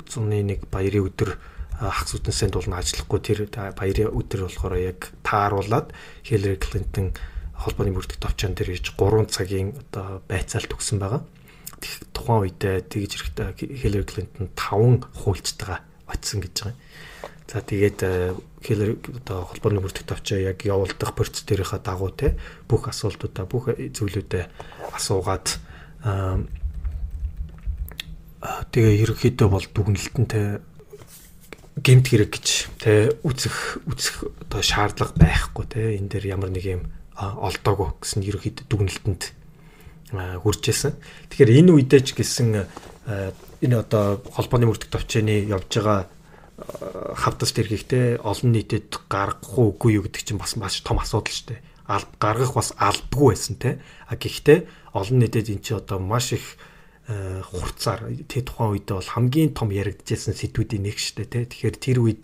Speaker 1: зуны нэг баярын өдөр хагас үтэнсэнд болно ажиллахгүй тэр баярын өдөр болохоор яг тааруулаад Hillary Clinton холбооны мөрдөх товчон дээр хийж 3 цагийн одоо байцаалт өгсөн байгаа. Тухайн үедээ тэгж ирэхдээ Hillary Clinton 5 хуульчтайгаа очисон гэж байгаа. За тэгээд Hillary одоо холбооны мөрдөх товчоо яг явуулдах процесс дээрийнхаа дагуу те бүх асуултуудаа бүх зүйлүүдэд асуугаад тэгээ ерөнхийдөө бол дүгнэлтэнтэй гэмт хэрэг гэж те үзэх одоо шаардлага байхгүй те энэ дээр ямар нэг юм олдоогүй гэсэн ерөнхийдөө дүгнэлтэнд хүрчээсэн. Тэгэхээр энэ үедээ ч гэсэн энэ одоо холбооны мөрдөх товчооны явж байгаа хавтас тэрхийхтэй олон нийтэд гаргах уугүй юу гэдэг чинь бас маш том асуудал шүү дээ. Гаргах бас алдгүй байсан те. Гэхдээ олон нийтэд эн чинь одоо маш их хурцаар тэ тухайн үед бол хамгийн том яригдчихсэн сэдвүүдийн нэг шүү дээ те. Тэгэхээр тэр үед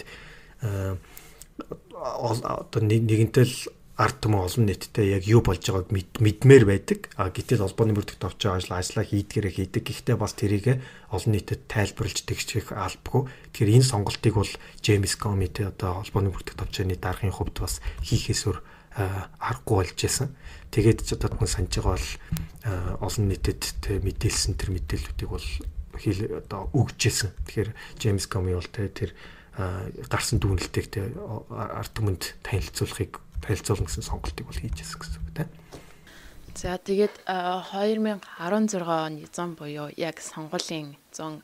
Speaker 1: одоо нэгэнтэл ард түмэн олон нийтдээ яг юу болж байгааг мэдмээр байдаг. Гэтэл холбооны бүртгэгт авч байгаа ажлаа хийдгээрээ хийдэг. Гэхдээ бас тэрийг олон нийтэд тайлбарлаж тэгчих албагүй. Тэгэхээр энэ сонголтыг бол Джеймс Коми тэ одоо холбооны бүртгэгт авч байгааны даргын хувьд бас хийхээсүр аргагүй болж байсан. Тэгээд ч одоо санаж байгаа бол олон нийтэд мэдээлсэн тэр мэдээллүүдийг бол одоо өгчээсэн. Тэгэхээр Джеймс Коми бол тэр гарсан дүгнэлтийг ард түмэнд танилцуулна гэсэн сонголтыг бол хийж ирсэн гэсэн үг тийм.
Speaker 2: За тэгээд 2016 оны 100 буюу яг сонгуулийн 100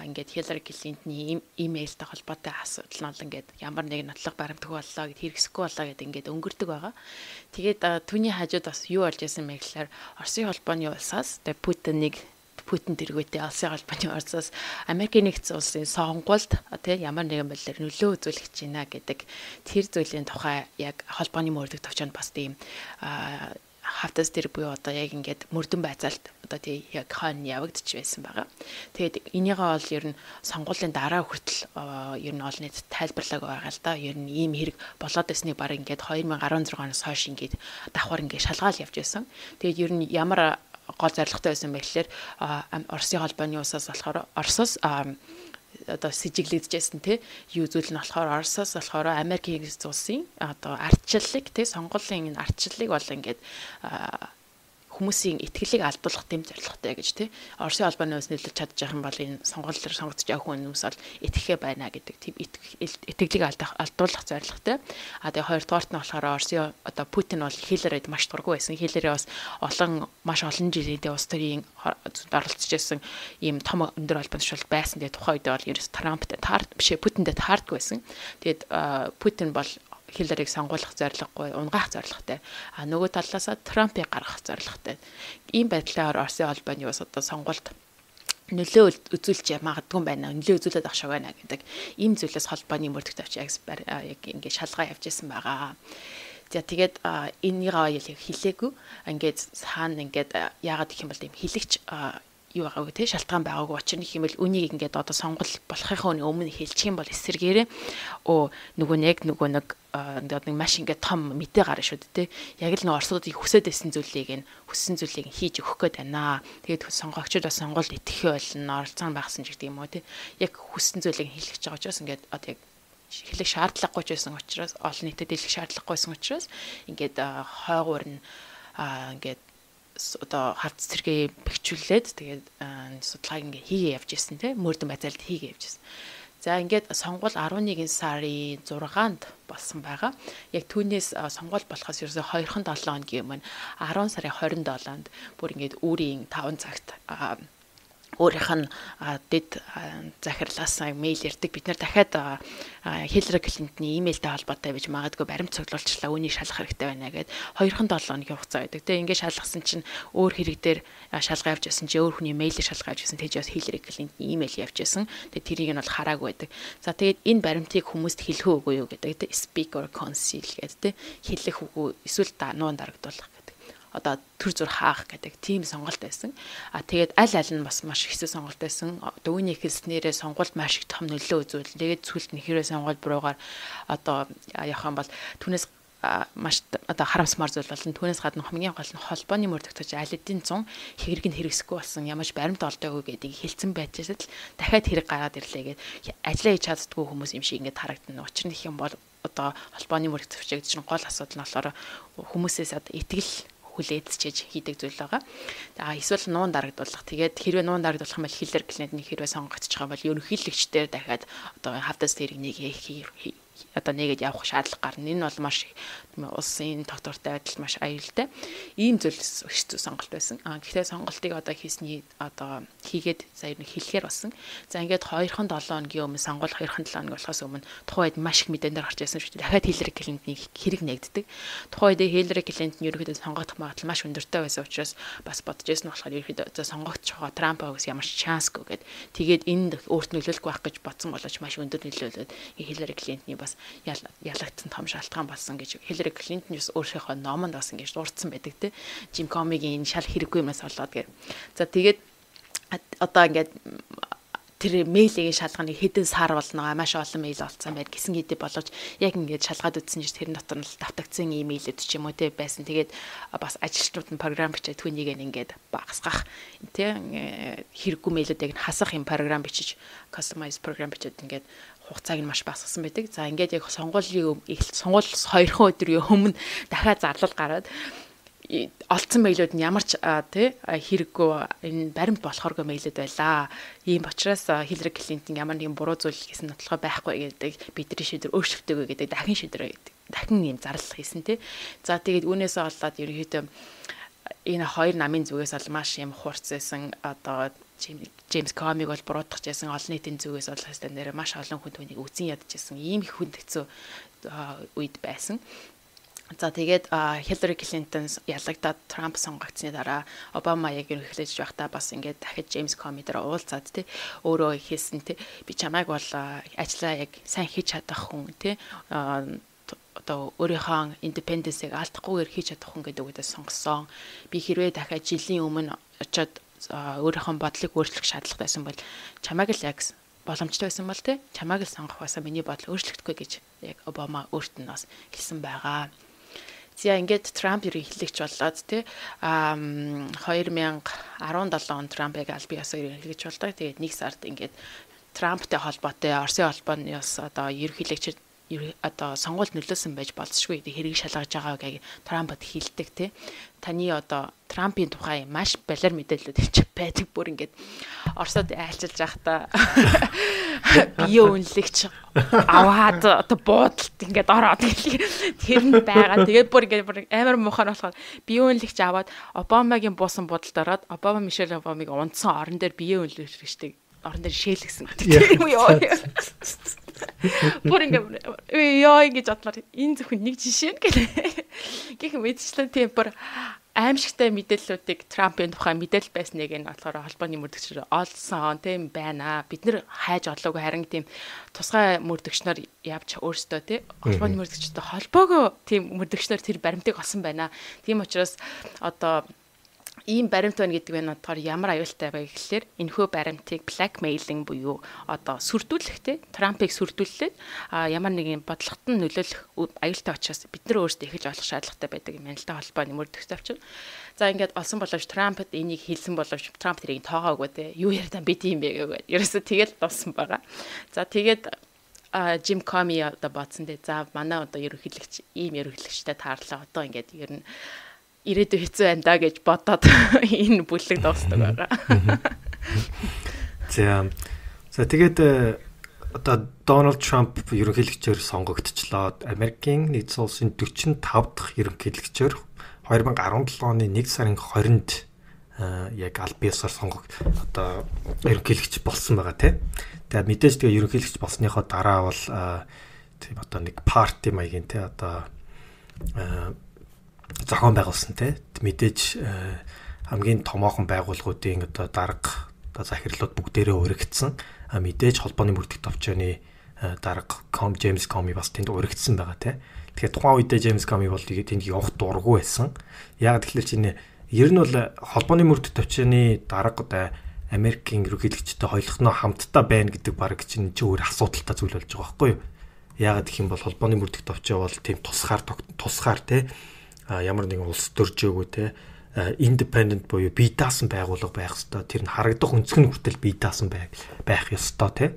Speaker 2: ингээд Хиллари Клинтоны имэйлтэй холбоотой асуудал нь бол ингээд ямар нэг нотлох баримтгүй боллоо гэд хэрэгсэхгүй боллоо гэд ингээд өнгөрдөг байгаа. Тэгээд түүний хажууд бас юу болж байсан бэ гэхээр Оросын холбооны улсаас тэгээд Путин тэргүүтээ Оросын холбооны улсаас Америкийн нэгдсэн улсын сонгуульд тийм ямар нэгэн байдлаар нөлөө үзүүлэх гэж байна гэдэг тэр зүйлийн тухай яг холбооны мөрдөг төвчөнд бас тийм хавтас тэр буюу одоо яг ингээд мөрдөн байцаалт одоо тий яг хойно явагдаж байсан байгаа. Тэгээд энийгээ бол ер нь сонгуулийн дараа хүртэл ер нь олон нийт тайлбарлаг байгаа л да. Ер нь ийм хэрэг болоод байсныг баг ингээд 2016-оноос хойш ингээд давхар ингээд шалгаал явж байсан. Тэгээд ер нь ямар гол зорилготой байсан бэ гэхээр Оросын холбооны улсаас болохоор Оросоос одоо сэжиглэгдэжсэн тий юу зүйл нь болохоор Оросоос болохоор Америкийн улсын одоо ардчлалыг тий сонгуулийн ардчлалыг бол ингээд хүмүүсийн итгэлийг алдуулах гэм зорилготой гэж тий Оросын холбооны улс нийлж чадж байгаа юм бол энэ сонгуулиар сонгогдож явах хүмүүс бол итгэхэ байна гэдэг тийм итгэлийг алдуулах зорилготой. Тэгээ хоёрдугаарт нь болохоор Оросын одоо Путин бол Хилларид маш дургүй байсан. Хиллари бас маш олон жилийн улс төрийн оролцож байсан ийм том өндөр холбооны шууд байсан. Тэгээ тухайн үед бол ерөөс Трамптай Путинтэй таардгүй байсан. Тэгээд Путин бол Хилларийг сонгуулах зорилгогүй, унгаах зорилготой. Нөгөө талаасаа Трампыг гаргах зорилготой. Ийм байдлаар Оросын холбооны улс одоо сонгуульд нөлөө үзүүлж магадгүй байна. Нөлөө үзүүлээд ах шиг байна гэдэг ийм зүйлээс холбооны мөрдөгт авч яг ингээд шалгаа явж исэн байгаа. За тэгээд энийгээ хэлээгүй. Ингээд цаана ингээд яагаад гэх юм бол тийм хэлэгч юу байгаагүй тий шалтгаан байгаагүй учир нь хэмээл үнийг ингээд одоо сонгол болохынхаа өмнө хэлчих юм бол эсэргээрээ нөгөө нэг ингээд нэг маш ингээд том мэдээ гарна шүү дээ тий яг л нэг Оросуудыг хүсэж байсан зүйлийг хүссэн зүйлийг хийж өгөх гээд байна. Тэгээд сонгогчдод бас сонгуульд итгэхээ болно оролцоо багсан ч гэдэг юм уу тий яг хүссэн зүйлийг хэлэх гэж байгаа учраас ингээд одоо яг хэлэх шаардлагагүй ч байсан учраас олон нийтэд хэлэх шаардлагагүйсэн учраас ингээд хойгуур нь ингээд одоо хавц зэрэг бэхжүүлээд тэгээд судалгааг ингээ хийгээ явж ирсэн тийм мөрдөн байцаалд хийгээ явж ирсэн. За ингээд сонгуул 11 сарын 6-нд болсон байгаа. Яг түүнээс сонгуул болохоос ерөөсөй 2-7 хоногийн өмнө 10 сарын 27-нд бүр ингээд үүрийн 5 цагт өөрийнх нь дэд захирлаас мэйл ирдэг. Бид нэр дахиад Хиллари Клинтоны имэйлтэй холбоотой байж магадгүй баримт цуглуулчлаа үүнийг шалгах хэрэгтэй байна гэд 2-7 хоногийн хугацаа байдаг. Тэгээ ингээд шалгасан чинь өөр хэрэг дээр шалгаа явж байсан чи өөр хүний мэйлээр шалгаа явж байсан. Тэгж бас Хиллари Клинтоны имэйл явж байсан. Тэгээ тэрийг нь бол хараагүй байдаг. За тэгээд энэ баримтыг хүмүүст хэлэх үгүй юу гэдэг. Speak or conceal гэдэг. Хэлэх үгүй эсвэл нуун дарагдуулах. Одоо төр зүр хаах гэдэг тийм сонголт байсан. Тэгээд аль нь бас маш хэцүү сонголт байсан. Одоо үүнийг хэлснээрээ сонгуульд маш их том нөлөө үзүүл. Тэгээд зүйлт нь хэрвээ сонгуульд буруугаар одоо явах юм бол түүнээс маш одоо харамсмар зүйл болно. Түүнээс гадна хамгийн гол нь холбооны мөрдөгч аль эдийн зун хэрэг нь хэрэгсэхгүй болсон ямарч баримт олдоогүй гэдгийг хэлсэн байжсад л дахиад хэрэг гараад ирлээ гэдэг ажиллаа хийж чаддгүй хүмүүс юм шиг ингээд харагдана. Учир нь их юм бол одоо холбооны мөрдөгч гэж чинь гол асуудал нь болохоор хүмүүсээс одоо итгэл хүлээдчиж хийдэг зүйл байгаа. Эсвэл нуун дарагдуулах. Тэгээд хэрвээ нуун дарагдуулах юм бол Хиллари Клинтоны хэрвээ сонгогдчих юм бол ерөнхийлөгчдөр дахиад одоо хавтас тэрэг одоо нэгэд явах шаардлага гарна. Энэ бол маш улсын тогтвортой байдал маш аюултай. Ийм зүйлс хэцүү сонголт байсан. Гэхдээ сонголтыг одоо хийсний одоо хийгээд сая нэг хэлэхээр болсон. За ингээд 2-7 хоногийн өмнө сонгуул 2-7 хоног болохоос өмнө тухайн үед маш их мэдэн дээр гарч ирсэн шүү дээ. Дахиад Хиллари Клинтоны хэрэг нэгддэг. Тухайн үед Хиллари Клинтон ерөнхийдөө сонгогдох магадлал маш өндөртэй байсан учраас бас бодож ирсэн болохоор ерөнхийдөө сонгогдох Трампаас ямар ч шансгүй гэд. Тэгээд энд өөрт нөлөөлөх байх гэж бодсон боловч маш өндөр нөлөөлөд Хиллари Клинтоны бас ялагдсан том шалтгаан болсон гэж Хиллари Клинтон бас өөрийнхөө номонд бас ингэж дурдсан байдаг те. Жим Комигийн энэ шал хэрэггүй юмнаас болоод гэр. За тэгээд одоо ингээд тэр мэйлийг шалгахыг хэдэн сар болно маш олон мэйл олцсон байд гэсэн хэдий боловч яг ингээд шалгаад үзсэн чинь тэр дотор нь давтагдсан имэйлүүд ч юм уу те байсан. Тэгээд бас ажилчнууд нь програм бичээд түүнийг ингээд багасгах те хэрэггүй мэйлүүдийг нь хасах юм програм бичиж customize програм бичээд ингээд хугацааг нь маш багасгасан байдаг. За ингээд яг сонгуулийн сонгуулиас 2 өдрийн өмнө дахиад зарлал гараад олцсон мэйлүүд нь ямар ч тий хэрэггүй энэ баримт болохооргүй мэйлүүд байлаа. Ийм учраас Хиллари Клинтон ямар нэгэн буруу зүйл хийсэн нотлохоо байхгүй гэдэг бидний шийдвэр өөрчлөгдөөгүй гэдэг дахин шийдвэр гэдэг. Дахин ийм зарлал хийсэн тий. За тэгээд үүнээсээ болоод ерөнхийдөө энэ хоёр намын зүгээс бол маш юм хурц байсан. Одоо Джеймс Комиг бол буруутгах гэсэн олон нийтийн зүгээс бол хэвээр нэр маш олон хүн түүнийг үзэн ядчихсан. Ийм их хүн хэцүү үед байсан. За тэгээд Хиллари Клинтон ялагдаад Трамп сонгогдсны дараа Обама яг ерөнхийлж байхдаа бас ингээд дахиж Джеймс Коми дээр уулзаад тий өөрөө хийсэн тий би чамайг бол ажиллаа яг сайн хийж чадах хүн тий одоо өөрийнхөө индипенденсийг алдахгүйгээр хийж чадах хүн гэдэг үгдээ сонгосон. Би хэрвээ дахиад жилийн өмнө очиод өөрийнхөө бодлыг өөрчлөх шаардлагатай байсан бол чамайг л яг боломжтой байсан бол тий чамайг л сонгох байсан миний бодол өөрчлөгдөхгүй гэж яг Обама өөрт нь бас хэлсэн байгаа. За ингээд Трамп ерөнхийлөгч болоод тий 2017 он Трампыг аль биесээр ерөнхийлөгч болдог. Тэгээд нэг сард ингээд Трамптай холбоотой Оросын холбооны бас одоо ерөнхийлөгч одоо сонгуульд нөлөөсөн байж болзошгүй хэрэг шалгаж байгаа гэж Трампд хэлдэг тий. Таны одоо Трампын тухай маш балер мэдээлэлүүд ч байдаг бүр ингээд Оросод айлчилж байхдаа бие үнэлэгч аваад одоо буудалд ингээд ороод тэр нь байгаа. Тэгээд бүр ингээд амар муухай болохоор бие үнэлэгч аваад Обамагийн буусан буудалд ороод Обама Мишель Обамыг унтсан орон дээр бие үнэлэгчтэй орон дээр шээлгсэн. Тэр юм ёо. Бүр ингээд ёо ингэж бодлоо энэ зөвхөн нэг жишээ гэх мэдчлэн тийм бүр аимшигтай мэдээллүүдийг Трампын тухай мэдээлэл байсныг нь болохоор холбооны мөрдөгчөөр олсон тийм байна. Бид нэр хайж одлоогүй харин тийм тусгай мөрдөгчнөр явж өөрсдөө тийм холбооны мөрдөгчтэй холбоогоо тийм мөрдөгчнөр тэр баримтыг олсон байна. Тийм учраас одоо ийм баримт байна гэдэг нь болохоор ямар аюултай вэ гэхэлэр энэхүү баримтыг blackmailing буюу одоо сүрдүүлэх те Трампыг сүрдүүлээд ямар нэгэн бодлогот нь нөлөөлөх аюултай учраас бид нар өөрсдөө эхэлж олох шаардлагатай байдаг юм байна л да холбооны мөрдөгчтэй авчир. За ингээд олсон боловч Трампд энийг хэлсэн боловч Трамп тэрийг тоогоогүй те юу яриад би тийм бэ гэвэл ерөөсө тэгэл дуусан байгаа. За тэгээд Jim Comey одоо бодсон дээ. За манай одоо ерөнхийлөгч ийм ерөнхийлөгчтэй таарлаа. Одоо ингээд ер нь ирээдүй хэцүү байна да гэж бодоод энэ бүлэг дуустдаг байгаа.
Speaker 1: За тэгээд одоо Дональд Трамп ерөнхийлөгчөөр сонгогдчихлоо. Америкийн нэгдсэн улсын 45 дахь ерөнхийлөгчөөр 2017 оны 1 сарын 20-нд яг аль биесээр одоо ерөнхийлөгч болсон байгаа тийм. Тэгээд мэдээж тэгээ ерөнхийлөгч болсныхоо дараа бол тийм одоо нэг парти маягийн тийм одоо зохион байгуулсан те мэдээж хамгийн томоохон байгууллагуудын одоо дарга одоо захирлууд бүгдээрээ өргөгдсөн. Мэдээж холбооны мөрдөх товчооны дарга Джеймс Коми бас тэнд өргөгдсөн байгаа те. Тэгэхээр тухайн үедээ Джеймс Коми бол тэнд явах дургүй байсан. Яг тэгэхээр чинь ер нь бол холбооны мөрдөх товчооны дарга одоо Америкийн ерөнхийлөгчтэй хоёулахнаа хамтдаа байна гэдэг баг чинь өөр асуудалтай зүйл болж байгаа байхгүй юу? Яг гэх юм бол холбооны мөрдөх товчоо бол тийм тусгаар те ямар нэгэн улс төржөөгүй те independent буюу бие даасан байгууллага байх ёстой. Тэр нь харагдах өнцг нь хүртэл бие даасан байх ёстой те.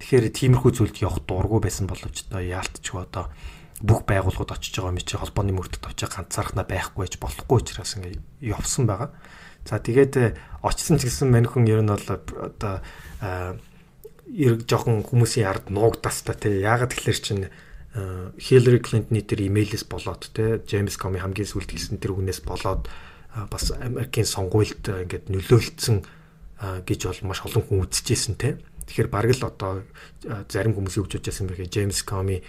Speaker 1: Тэгэхээр тиймэрхүү зүйлд явах дурггүй байсан боловч одоо яалтчгүй одоо бүх байгууллагууд очиж байгаа юм чи холбооны мөрдөх товчоо ганцаархнаа байхгүй гэж болохгүй учраас ингэ явсан байгаа. За тэгээд очсон ч гэсэн маньхэн ер нь бол одоо жоохон хүмүүсийн ард нуугдаас та те. Яагаад тэгэхээр чинь Хиллари Клинтоны тэр имэйлээс болоод те Джеймс Коми хамгийн сүүлд хэлсэн тэр үгнээс болоод бас Америкийн сонгуульд ингээд нөлөөлсөн гэж бол маш олон хүн үзчихсэн те. Тэгэхээр бараг л одоо зарим хүмүүс юу гэж бодож байсан бэ? Джеймс Коми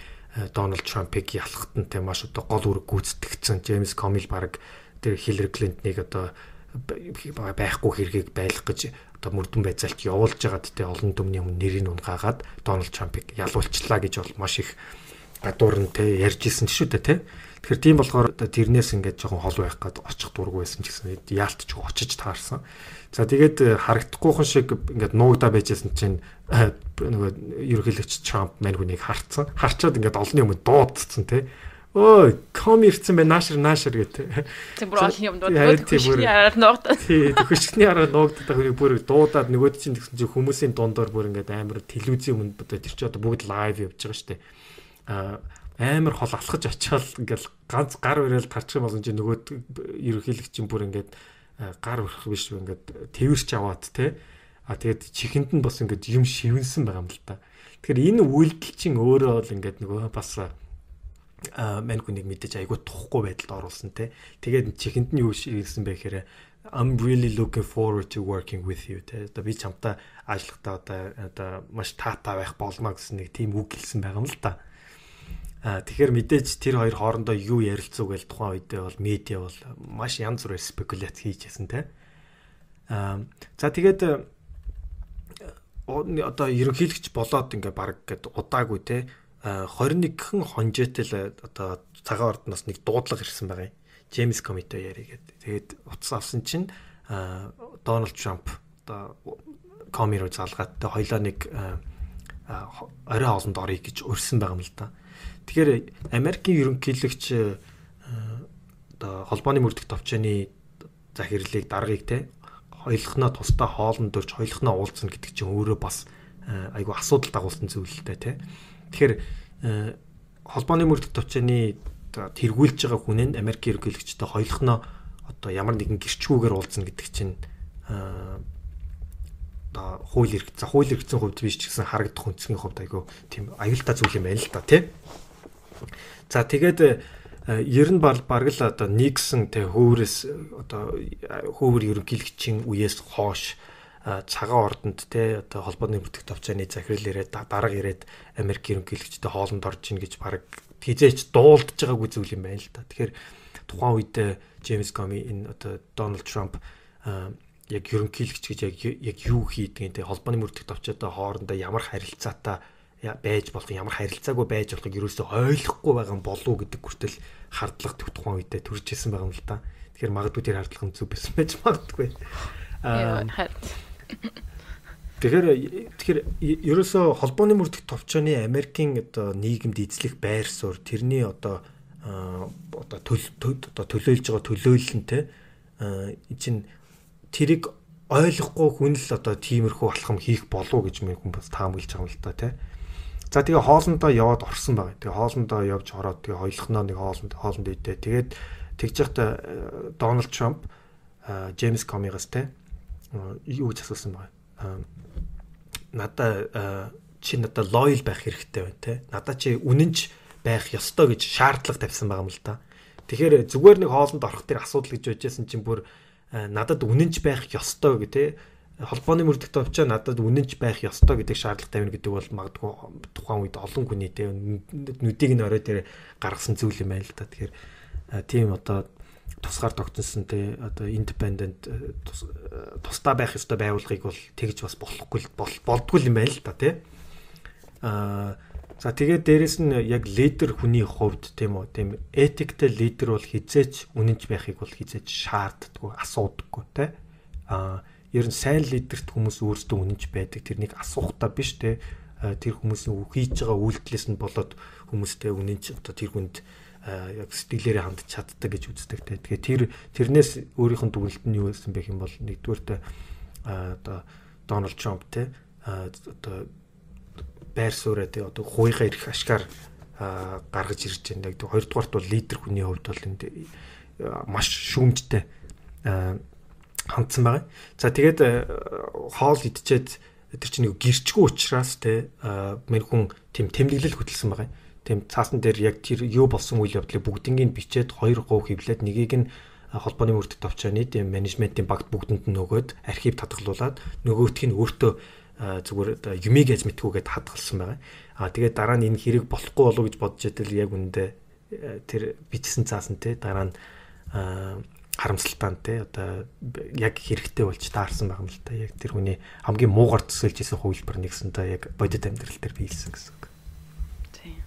Speaker 1: Дональд Трампыг ялахт нь те маш одоо гол үүрэг гүйцэтгэгдсэн. Джеймс Коми л бараг тэр Хиллари Клинтоныг одоо байхгүй хэргийг байлгах гэж одоо мөрдөн байцаалт явуулж байгаад те олон түмний өмнө нэрийг унгаагаад Дональд Трампыг ялуулчлаа гэж бол маш их гадуур нь те ярьж исэн шүү дээ те. Тэгэхээр тийм болохоор тэрнээс ингээд жоохон хол байх гээд очих дургу байсан ч гэсэн яалтч очиж таарсан. За тэгээд харагдахгүйхан шиг ингээд нуугдаа байжсэн чинь нөгөө ерөнхийлөгч Трамп мань хүнийг харцсан. Харчаад ингээд олонний өмнө дуудсан те. Ой, ком ирсэн бай наашир гэдэг.
Speaker 2: Тийм бүр олонний өмнө дуудаад хөшгний араар нуугдаад.
Speaker 1: Тийм хөшгний араар нуугдаад хүнийг бүр дуудаад нөгөөд чинь тэгсэн чинь хүмүүсийн дундор бүр ингээд амар телевизийн өмнө бодоо тэр чинь одоо бүгд лайв явж байгаа шүү дээ. Амар хол алхаж очиад ингээл ганц гар барайл тарчих юм болсон чинь нөгөө ерөнхийлөгч чинь бүр ингээд гар өрөх биш ингээд тэрч аваад те. Тэгээд чихэнд нь бас ингээд юм шивэнсэн байгаа юм л та. Тэгэхээр энэ үйлдэл чинь өөрөө бол ингээд нөгөө бас мань хүнийг мэдээж айгуу тухгүй байдалд оруулсан те. Тэгээд чихэнд нь юу шивэнсэн бэ гэхээр I'm really looking forward to working with you те. Одоо би чамтай ажиллахдаа одоо маш таатай байх болно гэсэн нэг тийм үг хэлсэн байгаа юм л та. Тэгэхээр мэдээж тэр хоёр хоорондоо юу ярилцуу гээл тухайн үедээ бол медиа бол маш янз бүрээр спекуляц хийжсэн те. За тэгээд одоо ерөнхийлөгч болоод ингээ баг гэд удаагүй те 21хэн хонжээтэл одоо цагаан ордноос нэг дуудлага ирсэн байгаа юм. Джеймс Комитой яригээд. Тэгээд утас авсан чинь Дональд Трамп одоо коми руу залгааттай хоёлаа нэг орой хоолнд орё гэж урьсан байгаа юм л да. Тэгэхээр Америкийн ерөнхийлөгч одоо холбооны мөрдөх товчооны захирлыг даргаыг те хоёулахнаа тусдаа хоолнд дөрж хоёулахнаа уулзна гэдэг чинь өөрөө бас айгу асуудал дагуулсан зүйл л дээ те. Тэгэхээр холбооны мөрдөх товчооны тэргүүлж байгаа хүн нь Америкийн ерөнхийлөгчтэй хоёулахнаа одоо ямар нэгэн гэрчгүүгээр уулзна гэдэг чинь одоо хууль эрхцэн хувьд биш ч гэсэн харагдах үнцгийн хувьд айгу тийм аюултай зүйл юм байна л да тий. За тэгээд ер нь баг л одоо Никсон тэ хөврөөс одоо хөвөр ерөнхийлөгчийн үеэс хойш цагаан ордонд те одоо холбооны бүртгэх товчооны захирал ирээд дарга ирээд Америк ерөнхийлөгчтэй хоолнд орж ийн гэж баг хизээч дуулдж байгаагүй зүйл юм байна л да. Тэгэхээр тухайн үед Джеймс Коми энэ одоо Дональд Трамп яг ерөнхийлөгч гэж яг юу хийдгийг те холбооны бүртгэх товчоотой хоорондоо ямар харилцаатай байж болох ямар харилцаагүй байж болохыг ерөөсөө ойлгохгүй байгаа болов гэдэг хүртэл хардлага тухайн үедээ төрж исэн байгаа юм л да. Тэгэхээр магадгүй тэр хардлага нь зүг байсан байж магадгүй. Тэгэхээр ерөөсөө холбооны мөрдөх товчооны Америкийн одоо нийгэмд эзлэх байр суурь тэрний одоо төлөөлж байгаа төлөөлөл нь те чинь тэрийг ойлгохгүй хүн л одоо тиймэрхүү алхам хийх болов гэж минь хүн бас таамаглаж байгаа юм л да те. За тэгээ хоолндоо яваад орсон байгаа. Тэгээ хоолндоо явж ороод тэгээ хоёулахнаа нэг хоолнд идэ. Тэгээд тэгж явахдаа Дональд Трамп Джеймс Комигаас те юу гэж асуусан байгаа. Надаа лоял байх хэрэгтэй байна те. Надаа чи үнэнч байх ёстой гэж шаардлага тавьсан байгаа юм л да. Тэгэхээр зүгээр нэг хоолнд орох тэр асуудал гэж байжсэн чинь бүр надад үнэнч байх ёстой гэх те. Холбооны мөрдөх товчоо надад үнэнч байх ёстой гэдэг шаардлага тавина гэдэг бол магадгүй тухайн үед олон хүний те нүдийг нь орой дээр гаргасан зүйл юм байна л да. Тэгэхээр тийм одоо тусгаар тогтсон те одоо independent тусдаа байх ёстой байгууллагыг бол тэгж бас болохгүй болдгүй юм байна л да те. За тэгээд дээрэс нь яг лидер хүний хувьд тийм үү тийм этиктэй лидер бол хизээч үнэнч байхыг бол хизээч шаарддаггүй асуудаггүй те. Ер нь сайн лидерт хүмүүс өөрсдөө үнэнч байдаг. Тэрнийг асуухтаа биш те. Тэр хүмүүсийн хийж байгаа үйлдэлээс нь болоод хүмүүстэй үнэнч одоо тэр хүнд яг сэтгэлээрээ хандж чаддаг гэж үздэг те. Тэгэхээр тэрнээс өөрийнх нь дүгнэлт нь юу байсан бэ юм бол нэгдүгээрт одоо Дональд Трамп те одоо байр суурь те одоо хууйгаа ирэх ашгаар гаргаж ирж байна. Хоёрдугаарт бол лидер хүний хувьд бол энд маш шүүмжтэй хандсан байгаа. За тэгээд хоол идчихэд тэр чинь нэг гэрчгүй учраас те мэр хүн тийм тэмдэглэл хөтэлсэн байгаа. Тийм цаасан дээр яг тэр юу болсон үйл явдлыг бүгднийг бичээд 2 говь хэвлээд нэгийг нь холбооны мөрдөх товчооны тийм менежментийн багт бүгдэнд нь нөгөөд архив татгалуулаад нөгөөх нь өөртөө зүгээр юмыг яаж мэдхгүйгээд хадгалсан байгаа. Тэгээд дараа нь энэ хэрэг болохгүй болов гэж бодож итэл яг үндэ тэр бичсэн цаасан те дараа нь харамсалтай те одоо яг хэрэгтэй болж таарсан байгаа юм л та. Яг тэр хүний хамгийн муугар төсөөлж исэн хувилбар нэгсэн та яг бодит амьдрал дээр биелсэн гэсэн үг.
Speaker 2: Тийм.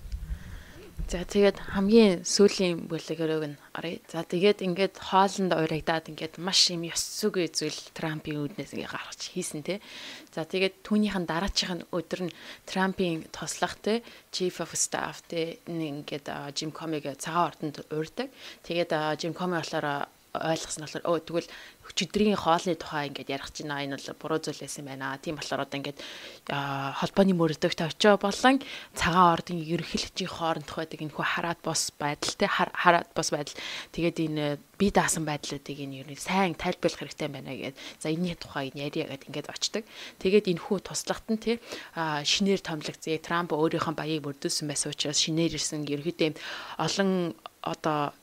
Speaker 2: За тэгээд хамгийн сүүлийн бүлэгэрэг нь оръё. За тэгээд ингээд хоолнд урагдаад ингээд маш юм ёс зүгүй зүйл Трампын үүднээс ингээд гаргаж хийсэн те. За тэгээд түүнийхэн дараачихын өдөр нь Трампын тослох те Chief of Staff те ингээд Jim Comey-г цагаан ордонд уурдаг. Тэгээд Jim Comey болохоор ойлгосон болохоор тэгвэл өчигдрийн хоолны тухай ингээд ярих чинь энэ бол буруу зүйл байсан байна. Тийм болохоор одоо ингээд холбооны мөрөгдөгт очоо болон цагаан ордын ерөнхийлөгчийн хоорондох байдаг энэ хүү хараад бос байдал те хараад бос байдал тэгээд энэ бие даасан байдлуудыг энэ юу сайн тайлбарлах хэрэгтэй байна гэдэг. За энэний тухай яриа гэдэг ингээд очдөг. Тэгээд энэ хүү туслагт нь те шинээр томилогцээ Трамп өөрийнхөө баяыг мөрдүүлсэн байсан учраас шинээр ирсэн ерөнхийдөө олон одоо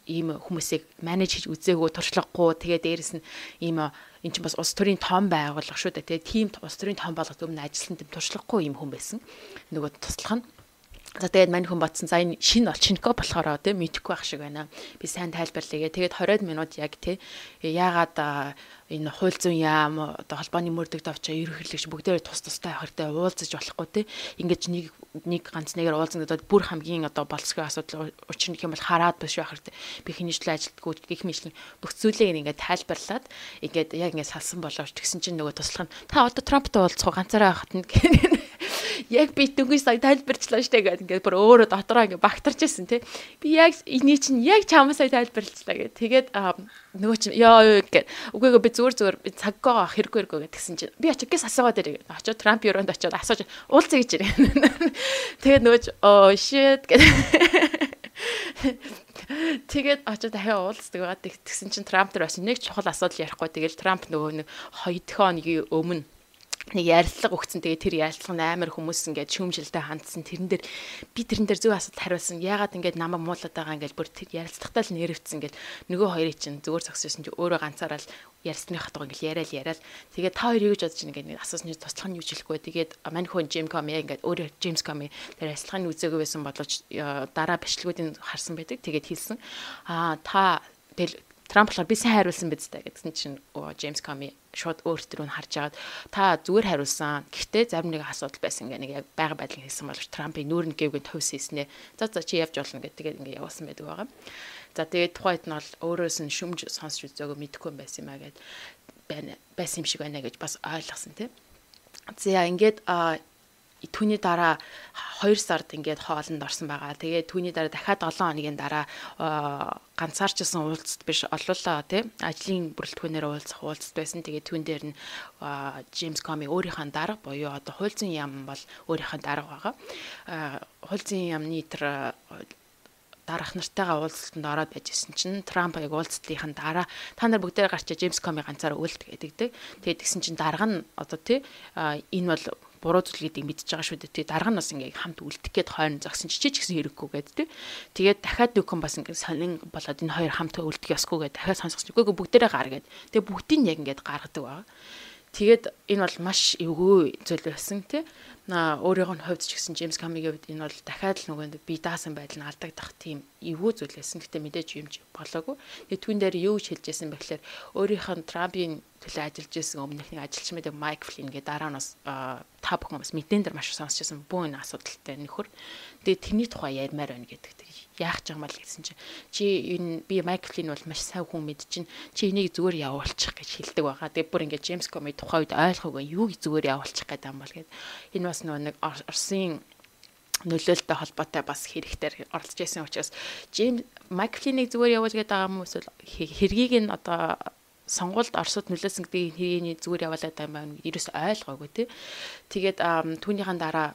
Speaker 2: ийм хүмүүсийг менеж хийж үзээгүй туршлагагүй тэгээ дээрэс нь ийм эн чинь бас улс төрийн том байгууллага шүү дээ тийм улс төрийн том байгууллагад өмнө ажилласан тийм туршлагагүй ийм хүн байсан нөгөө туслах нь за тэгээд мань хүн батсан за энэ шинэ олчинко болохоор тийм мэдэхгүй байх шиг байна би сайн тайлбарлая тэгээд 20 минут яг тий яагаад энэ хууль зүйн яам одоо холбооны мөрдөгт авчаа ерөнхийлөгч бүгдээ тустай хартай уулзаж болохгүй тий ингэж нэг ганц нэгээр уулзсан гэдэг бүр хамгийн одоо болцгой асуудал учир нь юм бол хараад биш байх хэрэгтэй би хинжлээ ажилтгүй гих мэтлэн бүх зүйлийг ингээд тайлбарлаад ингээд яг ингээд салсан боловч тэгсэн чинь нөгөө туслах нь та одоо Трамптай уулзах ганцаараа хатна яг би дүнгийн сая тайлбарчлаа штэ гэдэг ингээд бүр өөрөө дотроо ингээд багтарч ирсэн тий би яг эний чинь яг чамаа сая тайлбарлалаа гэх тэгээд нөгөө чинь ёо гэдэг үгүй би зүгээр би цаггаа хэрэггүй гэдгсэн чинь би очиж гис асуугаад ирээ очиж Трамп юунд очиод асууж уулзъя гэж ирээ тэгээд нөгөө shit гэдэг тэгээд очиж дахиад уулздаг байгаа тэгсэн чинь Трамп дээр бас нэг чухал асуудал ярихгүй тэгээд Трамп нөгөө нэг 2 хоногийн өмнө нэг ярилцлага өгсөн. Тэгээ тэр ярилцлага амар хүмүүс ингээд шүүмжилтэй хандсан. Тэрэн дээр зөв асуулт хариулсан. Яагаад ингээд намайг муулаад байгаа ингээд бүр тэр ярилцлагатай л нэрвцсэн ингээд нөгөө хоёрыг чинь зүгээр зогссон чинь өөрөө ганцаараа л ярьсны хатгаа ингээд яриад. Тэгээд та хоёр юу гэж бодож байна ингээд асуусны туслах нь юу ч хэлэхгүй. Тэгээд мань хүн Jim Comey ингээд өөрөө James Comey тэр ярилцлагын үзээгүй байсан боловч дараа бичлэгүүдийг харсан байдаг. Тэгээд хэлсэн. Та тэгэл Трамп болохоор би сайн хариулсан биз дээ гэсэн чинь James Comey шууд өөртөө нь харж агаад та зүгээр хариулсан. Гэхдээ зарим нэг асуудал байсан гэх нэг яг байга байдлыг хэлсэн боловч Трампын нүүрэн гээвгэн төвс хийснэ. За чи явж болно гэдэг ингээд явуулсан байдаг байгаа. За тэгээд тухайд нь бол өөрөөс нь шүмж сонсч үзээгөө мэдэхгүй байсан юм а гэд байсан юм шиг байна гэж бас ойлгосон тийм. За ингээд түүний дараа 2 сард ингээд хоолнд орсон байгаа. Тэгээд түүний дараа дахиад 7 хоногийн дараа ганцаарчсан уулзалт биш олуулаа тий ажлын бүрэлдэхүүнээр уулзалт байсан. Тэгээд түүн дээр нь James Comey өөрийнхөө дарга буюу одоо хууль зүйн яам бол өөрийнхөө дарга байгаа. Хууль зүйн яамны тэр дарах нартайгаа уулзалтанд ороод байжсэн чинь Трамп яг уулзалтын дараа та нар бүгдээ гарч James Comey ганцаараа үлд гэдэг. Тэгээд тэгсэн чинь дарга нь одоо тий энэ бол буруу зүйл гэдгийг мэдчихэж байгаа шүү дээ. Тэгээ дарга нь бас ингээ хамт үлдэх гээд хойно зогсон чи ч гэсэн хэрэггүй гэдэг. Тэгээд дахиад нөхөн бас ингээ сонин болоод энэ хоёр хамт үлдэх ёсгүй гэдэг дахиад сонсгоч. Үгүй бүгдээрээ гар гээд. Тэгээ бүгдийг яг ингээ гаргадаг байгаа. Тэгээд энэ бол маш эвгүй зүйл байсан тий. Өөрийнх нь хувьд ч гэсэн James Comey-гийн хувьд энэ бол дахиад л нөгөө бие даасан байдал нь алдагдах тийм эвгүй зүйл байсан. Гэтэ мэдээж юм болоогүй. Тэгээд түүн дээр юу ч хэлжсэн бэ гэхээр өөрийнх нь Трампын төлөө ажиллаж исэн өмнөхний ажилчин мэдээ Mike Flynn гэдэг дараа нь бас та бүхэн бас мэдэн дээр маш сонсч байсан бүү энэ асуудалтай нөхөр. Тэгээд тэрний тухай ярмаар байна гэдэг. Яах ч юм бол гэсэн чинь чи энэ би Mike Flynn бол маш сайн хүн мэд чинь чи энийг зүгээр явуулчих гэж хэлдэг байгаа. Тэгээд бүр ингээд James Comey тухай үед ойлгоогүй юуг зүгээр явуулчих гэдэг юм бол гээд энэ бас нэг Оросын нөлөөлөлтөй холбоотой бас хэрэгтэр оролцож байсан учраас Mike Flynn-ийг зүгээр явуул гэдэг байгаа юм эсвэл хэргийг нь одоо сонгуульд Оросд нөлөөсөн гэдгийг хэрийний зүгээр явуулаад байгаа юм байна. Ерөөс ойлгоогүй тий. Тэгээд түүнийхэн дараа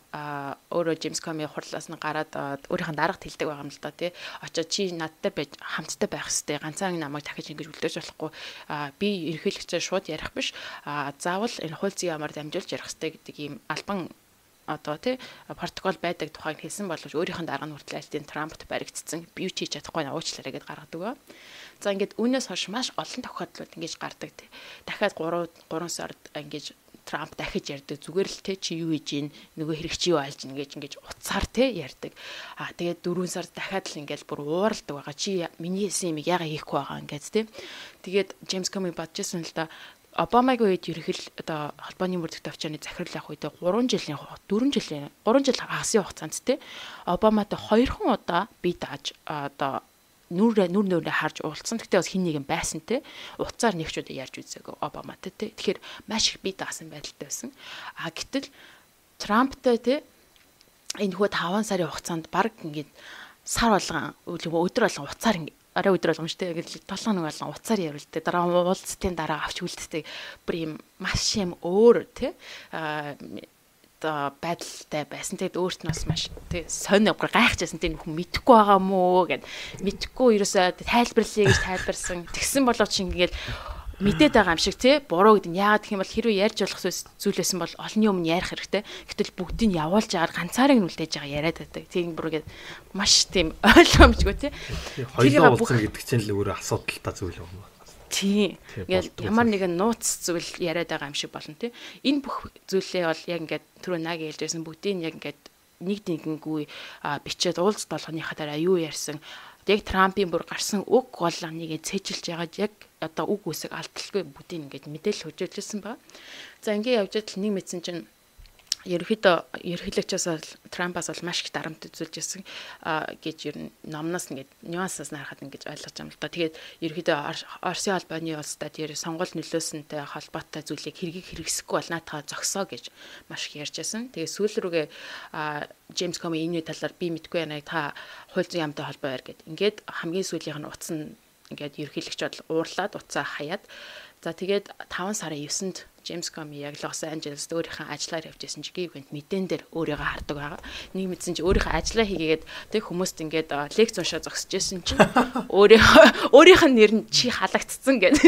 Speaker 2: өөрөө James Comey хурлаас нь гараад өөрийнх нь дарагт хэлдэг байгаа юм л да тий. Очоод чи надтай байж хамттай байх хэрэгтэй. Ганцхан намайг дахиж ингэж үлдээж болохгүй. Би ерөнхийлөгчөөр шууд ярих биш. Заавал энэ хууль зүйн ямаар дамжуулж ярих хэрэгтэй гэдэг ийм албан одоо тий протокол байдаг тухайг хэлсэн боловч өөрийнх нь дарга нь хүртэл альтын Трампт баригдсан. Би юу ч хийж чадахгүй уучлаарай гэд гаргадаг ба. За ингээд үүнээс хойш маш олон тохиолдлууд ингэж гардаг тий. Дахиад 3 сард ингэж Трамп дахиж ярьдаг. Зүгээр л тий чи юу хийж ийн нөгөө хэрэг чи юу айлж ингэж уцаар тий ярьдаг. Тэгээд 4 сард дахиад л ингээд бүр ууралдаг байгаа. Чи миний хэлсэн юм яагаад хийхгүй байгаа ингээд тий. Тэгээд James Comey бодчихсон л да Обамагийн үед ерөнхийдөө одоо холбооны мөрдөгт авчааны захирал явах үед 4 жил хагасын хугацаанд те Обаматай 2 удаа бие дааж одоо нүрээ харж уулзсан. Гэхдээ бас хин нэг юм байсан те. Уцаар нэг ч удаа ярьж үзээгүй Обаматай те. Тэгэхээр маш их бие даасан байдалтай байсан. Гэтэл Трамптай те энэ хүү 5 сарын хугацаанд баг ингээд сар болгон өдөр болгон уцаар арай өдөр болгомжтой яг л 7 хоног болгон уцаар явуулдаг. Дараа уулзтын дараа авч үлддэг. Бүр юм маш юм өөр тий байдалтай байсан. Тэгэд өөрт нь бас маш тий сонь гайхажсэн тий хүн мэдхгүй байгаа мó гэд мэдхгүй ерөөсөө тайлбарлая гэж тайлбарсан. Тэгсэн боловч ингээд мэдээд байгаа юм шиг тий буруу гэдэг нь яагаад гэх юм бол хэрвээ ярьж болох зүйлсэн бол олонний өмнө ярих хэрэгтэй. Гэтэл бүгдийг нь явуулж агаар ганцаараа нь үлдээж байгаа яриад байдаг. Тийм бүргээд маш тийм ойлгомжгүй тий.
Speaker 1: Хоёулаа уулзсан гэдэг чинь л өөрөө асуудалтай зүйл юм байна.
Speaker 2: Тийм. Ингээл ямар нэгэн нууц зүйл яриад байгаа юм шиг болно тий. Энэ бүх зүйлээ бол яг ингээд түрүү нааг хэлжсэн бүгдийг яг ингээд нэгдэнгүй бичээд уулз болгоныхаа дараа юу ярьсан. Яг Трампын бүр гарсан үг бол нэгээ цээжилж яагаад яг одоо үг үсэг алдалгүй бүгдийг ингээд мэдээлэл хөжөөлсөн байна. За ингээд явж идэл нэг мэдсэн чинь ерөнхийлөгчөөс Трампаас бол маш их дарамт үзүүлжсэн гэж ер нь номноос ингээд нюансаас нарахад ингэж ойлгож байгаа юм л да. Тэгээд ерөнхийдөө Оросын холбооны улстай тэр сонгуул нөлөөсөнтэй холбоотой зүйлийг хэрэгсэхгүй бол наатаа зогсоо гэж маш их ярьжсэн. Тэгээд сүүл рүүгээ Джеймс Коми энэ талаар би мэдгүй байна. Та хууль зүйн яамтай холбоо байр гэд. Ингээд хамгийн сүүлийнх нь утас нь ингээд ерөнхийлөгч бол уурлаад уцаа хаяад за тэгээд 5 сарын 9-нд Джеймс Коми яг Лос Анжелест өөрийнхөө ажлаар явж байсан чи ивент мэдэн дээр өөрийгөө хардаг байгаа. Нэг мэдсэн чи өөрийнхөө ажлаа хийгээд тэг хүмүүст ингээд лекц уншаа зогсож байсан чи өөрийнх нь нэр нь чи халагдцсан гэдэг.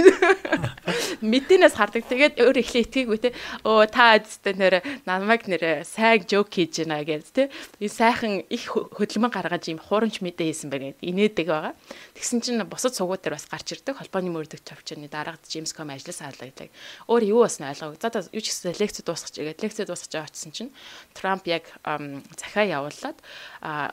Speaker 2: Мэдэнээс хардаг. Тэгээд өөр ихлэ итгээгүй те. Та адтай нэр намайг нэр сайн жок хийж байна гэж те. Энэ сайхан их хөдөлмөн гаргаж ийм хуурамч мэдээ хийсэн байна гэдэг инээдэг байгаа. Тэгсэн чинь бусад сугууд дээр бас гарч ирдэг. Холбооны мөрдөгч авчирны дараагад Джеймс Коми ажлаас хаалгадаг. Өөр юу бас ойлгоо. За юу ч гэсэн лекц дуусгаж игээд лекц дуусгаж очсон чинь Трамп яг захиа явуулаад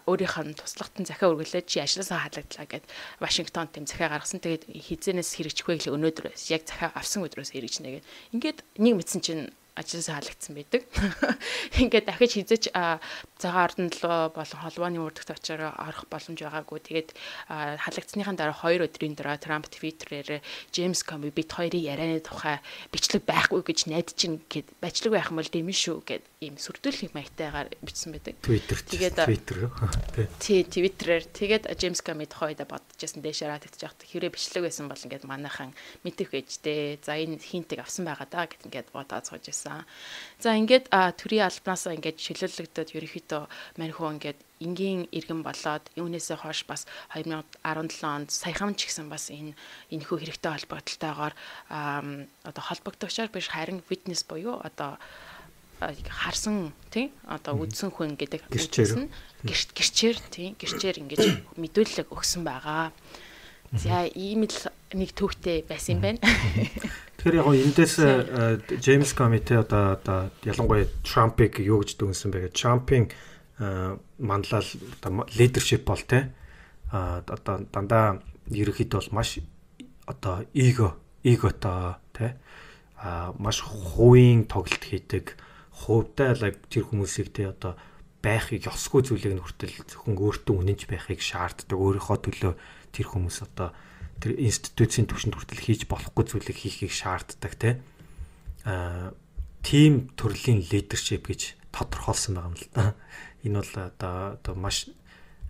Speaker 2: өөрийнх нь туслагтан захиа үргэлжлээд чи ажлаасаа хаалгадлаа гэд Вашингтонд тэм захиа гаргасан. Тэгээд хизэнээс хэрэгжихгүй л өнөөдрөөс яг захиа авсан өдрөөс хэрэгжнэ гэд. Ингээд нэг мэдсэн чинь ажлаасаа хаалгацсан байдаг. Ингээд дахиж хизээч цагаан ордонлоо болон холбооны мөрдөгт очоор орох боломж байгаагүй. Тэгээд хаалгацсныхаа дараа 2 өдрийн дараа Трамп Твиттерээр Джеймс Коми бит хоёрын ярианы тухай бичлэг байхгүй гэж найдаж чинь гэд бичлэг байх юм бол дэмэн шүү гэд ийм сүрдүүлэх маягтайгаар бичсэн байдаг.
Speaker 1: Тэгээд Твиттер
Speaker 2: тий Твиттерээр тэгээд Джеймс Коми тухайда бодчихсон дэшээ татчих яах хэрэг бичлэг байсан бол ингээд манайхан мэдэх ээжтэй. За энэ хинтэг авсан байгаа даа гэд ингээд бодоод сууж байсан. За ингээд төрийн албанаас ингээд шилүүлэгдээд ерөнхийдөө маньхуу ингээд энгийн иргэн болоод юунээсээ хойш бас 2017 онд саяхан ч гэсэн бас энэ хүү хэрэгтэй холбогдлолтойгоор одоо холбогдогчоор биш харин witness буюу одоо харсан тий одоо үдсэн хүн гэдэг гэрчээр ингэж мэдүүлэг өгсөн байгаа. За ийм л нэг төвхтэй байсан юм байна.
Speaker 1: Тэгэхээр яг эндээс Джеймс Комите одоо ялангуяа Трампыг юу гэж дүнсэн бэ гэж Трампын манлал лидершип бол те одоо дандаа ерөнхийдөө бол маш одоо эготой те маш хувийн тоглолт хийдэг хувьдаа л тэр хүмүүсийг те одоо байхыг ёсгүй зүйлийг нь хүртэл зөвхөн өөртөө үнэнч байхыг шаарддаг өөрийнхөө төлөө тэр хүмүүс одоо тэр институцийн түвшинд хүртэл хийж болохгүй зүйлийг хийхийг шаарддаг тийм төрлийн лидершип гэж тодорхойлсон байгаа юм л да. Энэ бол одоо маш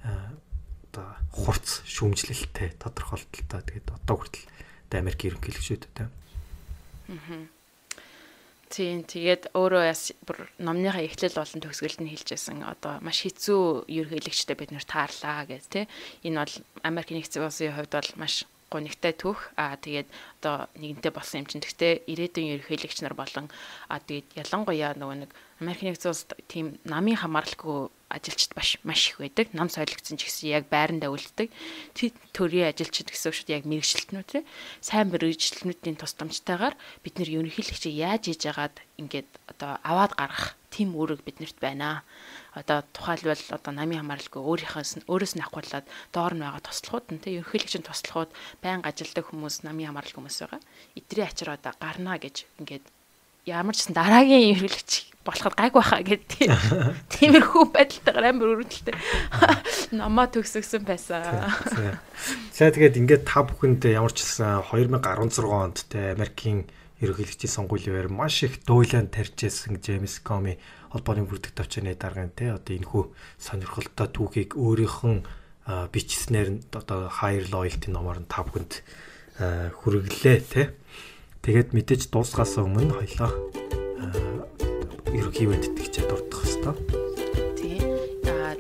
Speaker 1: одоо хурц шүүмжлэлтэй тодорхойлолттой. Тэгээд одоо хүртэл Америк ерөнхийлөгчтэй.
Speaker 2: Тийм тэгээд өөрөө бүр номныхаа эхлэл болон төгсгөлд нь хэлжсэн одоо маш хэцүү ерөнхийлөгчтэй бид нэр таарлаа гэж тий. Энэ бол Америк нэгдсэн улсын хувьд бол маш гонигтай түүх тэгээд одоо нэгэнтээ болсон юм чинь гэхдээ ирээдүйн ерөнхийлөгч нар болон тэгээд ялангуяа нөгөө нэг Америк нэгдсэн улсад тийм намын хамааралгүй ажилчид маш их байдаг. Нам соёлогдсон ч гэсэн яг байрандаа үлддэг. Төрийн ажилчид гэсэн үг шүү дээ, яг мэргэжилтнүүд тий. Сайн мэргэжилтнүүдийн тусламжтайгаар бид нэр ерөнхийлөгчийг яаж хийж яагаад ингээд одоо аваад гаргах тийм үүрэг биднэрт байна. Одоо тухайлбал одоо намын хамааралгүй өөрөөс нь ахгуулаад доор нь байгаа туслахууд нь тий ерөнхийлөгчийн туслахууд байнга ажилдаг хүмүүс намын хамааралгүй хүмүүс байгаа. Эдрийн ачаар одоо гарнаа гэж ингээд ямар ч гэсэн дараагийн ерөнхийлөгч болоход гайгүй байхаа гэдэг тиймэрхүү байдалтайгаар амар өрөвдөлтэй намаа төгсгсөн байсан.
Speaker 1: За тэгээд ингээд та бүхэнд ямар ч гэсэн 2016 онд те Америкийн ерөнхийлөгчийн сонгуулийн маш их дуйлан тарьжсэн Джеймс Коми холбооны бүрдэх төвчний даргын те одоо энэхүү сонирхолтой түүхийг өөрийнх нь бичснээр одоо Higher Loyalty номоор нь та бүхэнд хүргэлээ те. Тэгээд мэдээж дуусгаас өмнө хоёлаа ерөнхий мэдтгэгчээ дурдах хэвээр.
Speaker 2: Тий.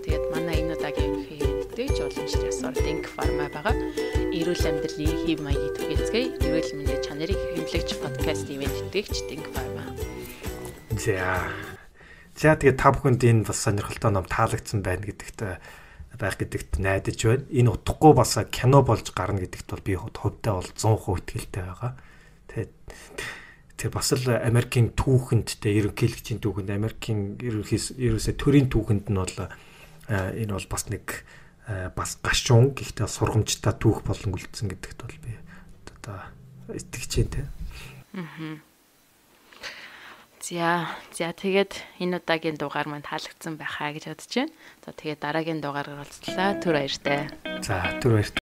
Speaker 2: Тэгээд манай энэ удаагийн ерөнхий мэдтгэгч уламжлалт ёсоор Think Pharma байгаа. Эрүүл амьдралын хэв маягийн түгээцгээе. Эрүүл мэндийн чанарыг хэмжлэгч подкаст мэдтгэгч Think Pharma.
Speaker 1: За тэгээд та бүхэнд энэ бас сонирхолтой ном таалагдсан байна гэдэгт найдаж байна. Энэ утгагүй бас кино болж гарна гэдэгт бол би хувьдаа бол 100% итгэлтэй байгаа. Тэр бас л Америкийн түүхэнд те ерөнхийлөгчийн түүхэнд Америкийн ерөөсөө төрийн түүхэнд нь бол энэ бол бас нэг бас гашуун гэхдээ сургамжтай түүх болон үлдсэн гэдэгт бол би одоо итгэж байна те.
Speaker 2: За тэгээд энэ удаагийн дугаар маань таалагдсан байхаа гэж бодож байна. За тэгээд дараагийн дугаараар уулзлаа. Түр баяртай.
Speaker 1: За түр баяртай.